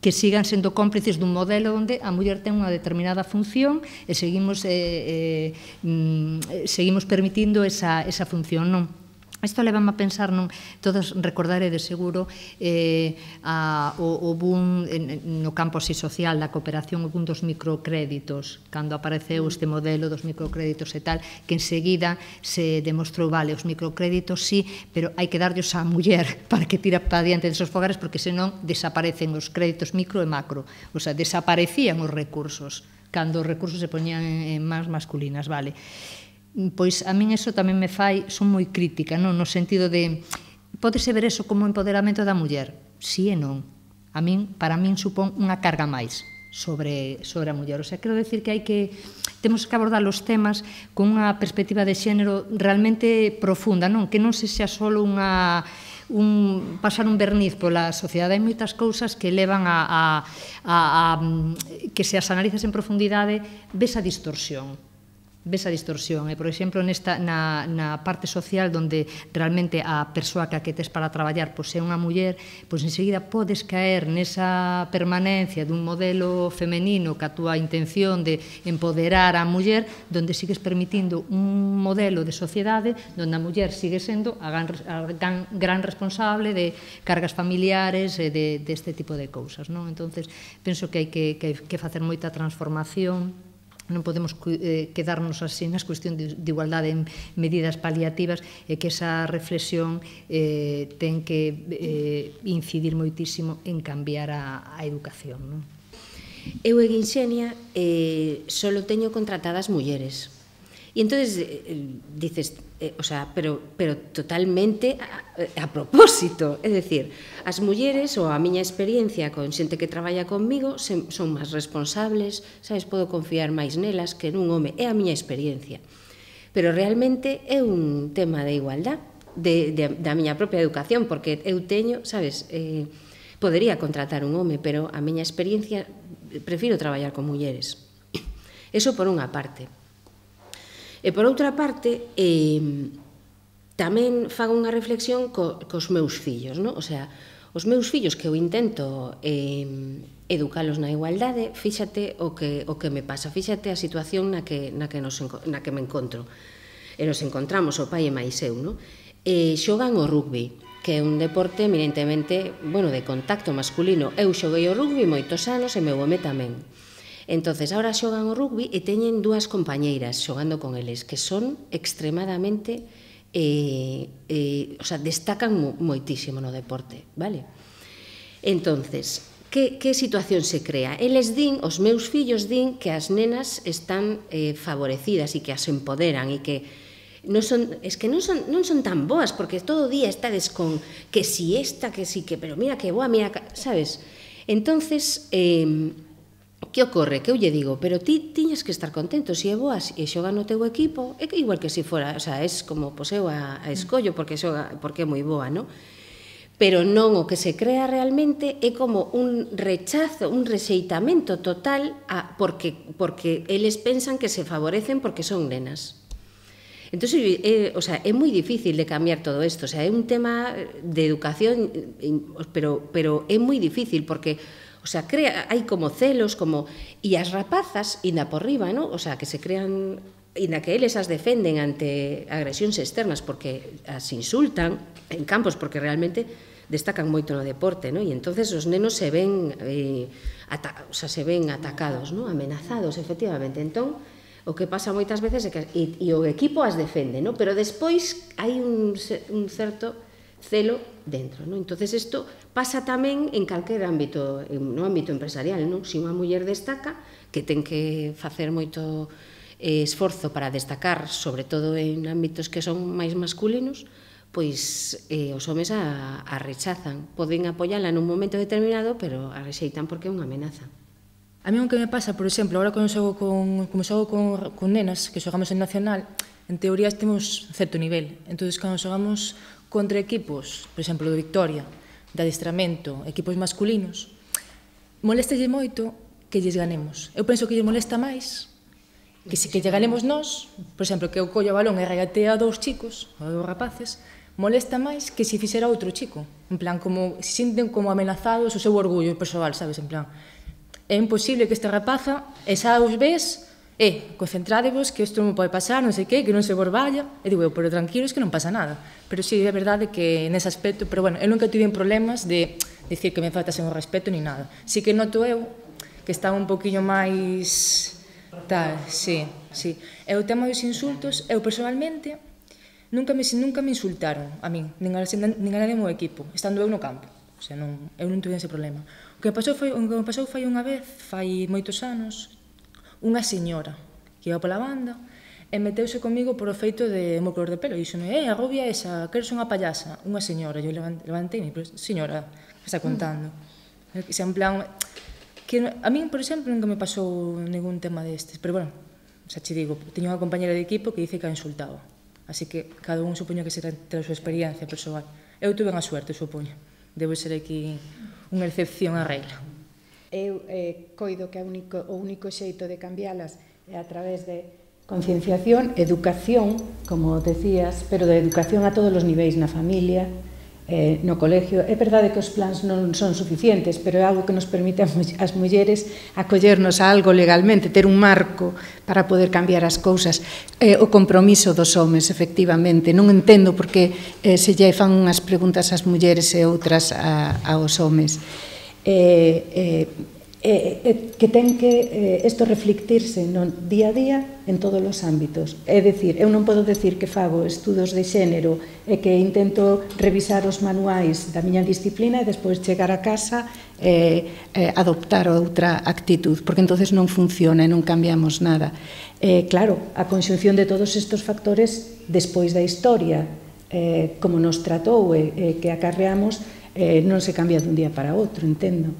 que sigan sendo cómplices dun modelo onde a muller ten unha determinada función e seguimos, eh, eh, seguimos permitindo esa, esa función, non? Isto levame a pensar, non, todos recordaredes seguro eh, a, o, o boom en, no campo así social da cooperación, o boom dos microcréditos, cando apareceu este modelo dos microcréditos e tal, que enseguida se demostrou, vale, os microcréditos sí, pero hai que darllos á muller para que tira para diante desos fogares, porque senón desaparecen os créditos micro e macro, o sea, desaparecían os recursos, cando os recursos se poñían en mans masculinas, vale. Pois a min eso tamén me fai, son moi crítica, non? No sentido de, pódese ver eso como empoderamento da muller? Si e non. A min, para min supón unha carga máis sobre, sobre a muller. O sea, quero decir que hai que, temos que abordar os temas con unha perspectiva de xénero realmente profunda, non? Que non se xa só unha un, pasar un verniz pola sociedade. Hai moitas cousas que levan a, a, a, a que se as analizas en profundidade ves a distorsión. ves a distorsión. E, por exemplo, nesta, na, na parte social onde realmente a persoa que a que tes para traballar pois é unha muller, pois enseguida podes caer nesa permanencia dun modelo femenino que a túa intención de empoderar a muller, onde sigues permitindo un modelo de sociedade onde a muller sigue sendo a gran, a gran, gran responsable de cargas familiares e de, deste tipo de cousas, non? Entonces, penso que hai que, que, que facer moita transformación. Non podemos eh, quedarnos así nas cuestión de, de igualdade en medidas paliativas e que esa reflexión eh, ten que eh, incidir moitísimo en cambiar a, a educación, non? Eu en Inxenia eh, solo teño contratadas mulleres. E entonces eh, dices, eh, o sea, pero, pero totalmente a, a propósito, é dicir, as mulleres, ou a miña experiencia con xente que traballa comigo, se, son máis responsables, sabes, podo confiar máis nelas que nun home, é a miña experiencia. Pero realmente é un tema de igualdad, de, de, da miña propia educación, porque eu teño, sabes, eh, podería contratar un home, pero a miña experiencia, prefiro traballar con mulleres. Eso por unha parte. E por outra parte, eh, tamén fago unha reflexión co, cos meus fillos, non? O sea, os meus fillos que eu intento eh, educalos na igualdade, fíxate o que, o que me pasa, fíxate a situación na que, na que, nos, na que me encontro. E nos encontramos, o pai e máis eu, non? E xogan o rugby, que é un deporte eminentemente, bueno, de contacto masculino. Eu xoguei o rugby moitos anos e meu home tamén. Entonces, ahora xogan o rugby e teñen dúas compañeiras xogando con eles que son extremadamente, eh, eh, o sea, destacan moitísimo no deporte, vale? Entonces, que, que situación se crea? Eles din, os meus fillos din que as nenas están eh, favorecidas e que as empoderan e que non son, es que non son, non son tan boas porque todo o día estades con que si esta, que si que, pero mira que boa, mira, sabes? Entonces, eh, que ocorre? Que eu lle digo, pero ti tiñas que estar contento, se é boa e xoga no teu equipo, é que igual que se fora, o sea, es como, pois eu a, a escollo porque xoga, porque é moi boa, non? Pero non, o que se crea realmente é como un rechazo, un rexeitamento total a, porque, porque eles pensan que se favorecen porque son nenas. Entón, é, o sea, é moi difícil de cambiar todo isto, o sea, é un tema de educación, pero, pero é moi difícil porque o sea, crea, hai como celos, como... E as rapazas, inda por riba, ¿no? O sea, que se crean... Inda que eles as defenden ante agresións externas porque as insultan en campos porque realmente destacan moito no deporte, ¿no? E entonces os nenos se ven, eh, ata, o sea, se ven atacados, ¿no? Amenazados, efectivamente. Entón, O que pasa moitas veces é que e, e o equipo as defende, ¿no? Pero despois hai un, un certo celo dentro, ¿no? Entonces isto pasa tamén en calquer ámbito, no ámbito empresarial, ¿no? Se unha muller destaca, que ten que facer moito esforzo para destacar, sobre todo en ámbitos que son máis masculinos, pois eh, os homes a, a rechazan. Poden apoiala nun momento determinado, pero a rexeitan porque é unha amenaza. A mí o que me pasa, por exemplo, agora cando xogo con, como xogo con, con nenas, que xogamos en Nacional, en teoría temos certo nivel. Entón, cando xogamos contra equipos, por exemplo, do Victoria, de adestramento, equipos masculinos, moléstalle moito que lles ganemos. Eu penso que lles molesta máis que se que lle ganemos nós, por exemplo, que eu collo o balón e regatea a dous chicos, a dous rapaces, molesta máis que se fixera outro chico. En plan, como se sinten como amenazados o seu orgullo persoal, sabes? En plan, é imposible que esta rapaza, e xa os ves, e, concentradevos, que isto non pode pasar, non sei que, que non se vos vaya, e digo eu, pero tranquilos que non pasa nada. Pero sí, é verdade que nese aspecto, pero bueno, eu nunca tive problemas de dicir que me faltasen o respeto ni nada. Sí que noto eu que estaba un poquinho máis tal, sí, sí. E o tema dos insultos, eu personalmente nunca me, nunca me insultaron a min, nin a, nin a nadie no equipo, estando eu no campo. O sea, non, eu non tuve ese problema. O que pasou foi, o que me pasou foi unha vez, fai moitos anos, unha señora que iba pola banda e meteuse comigo por o feito de mo color de pelo. E dixome, eh, a rubia esa, que eres unha payasa, unha señora. E eu levantei, pero señora, que está contando? Que xa en plan... Que a min, por exemplo, nunca me pasou ningún tema destes, pero bueno, xa che digo, teño unha compañera de equipo que dice que a insultaba, así que cada un supoño que será ter a súa experiencia persoal. Eu tuve unha suerte, supoño, debo ser aquí unha excepción á regla. Eu eh, coido que a único, o único xeito de cambialas é a través de concienciación, educación, como decías, pero de educación a todos os niveis, na familia, Eh, no colegio. É verdade que os plans non son suficientes, pero é algo que nos permite ás mulleres acollernos a algo legalmente, ter un marco para poder cambiar as cousas. Eh, o compromiso dos homes, efectivamente. Non entendo porque eh, se lle fan unhas preguntas ás mulleres e outras a, aos homes. Eh, eh, eh, eh, que ten que eh, isto reflectirse no día a día en todos os ámbitos. É dicir, eu non podo decir que fago estudos de xénero e que intento revisar os manuais da miña disciplina e despois chegar a casa e eh, adoptar outra actitud, porque entonces non funciona e non cambiamos nada. Eh, claro, a conxunción de todos estes factores despois da historia, eh, como nos tratou e eh, que acarreamos, eh, non se cambia dun día para outro, entendo.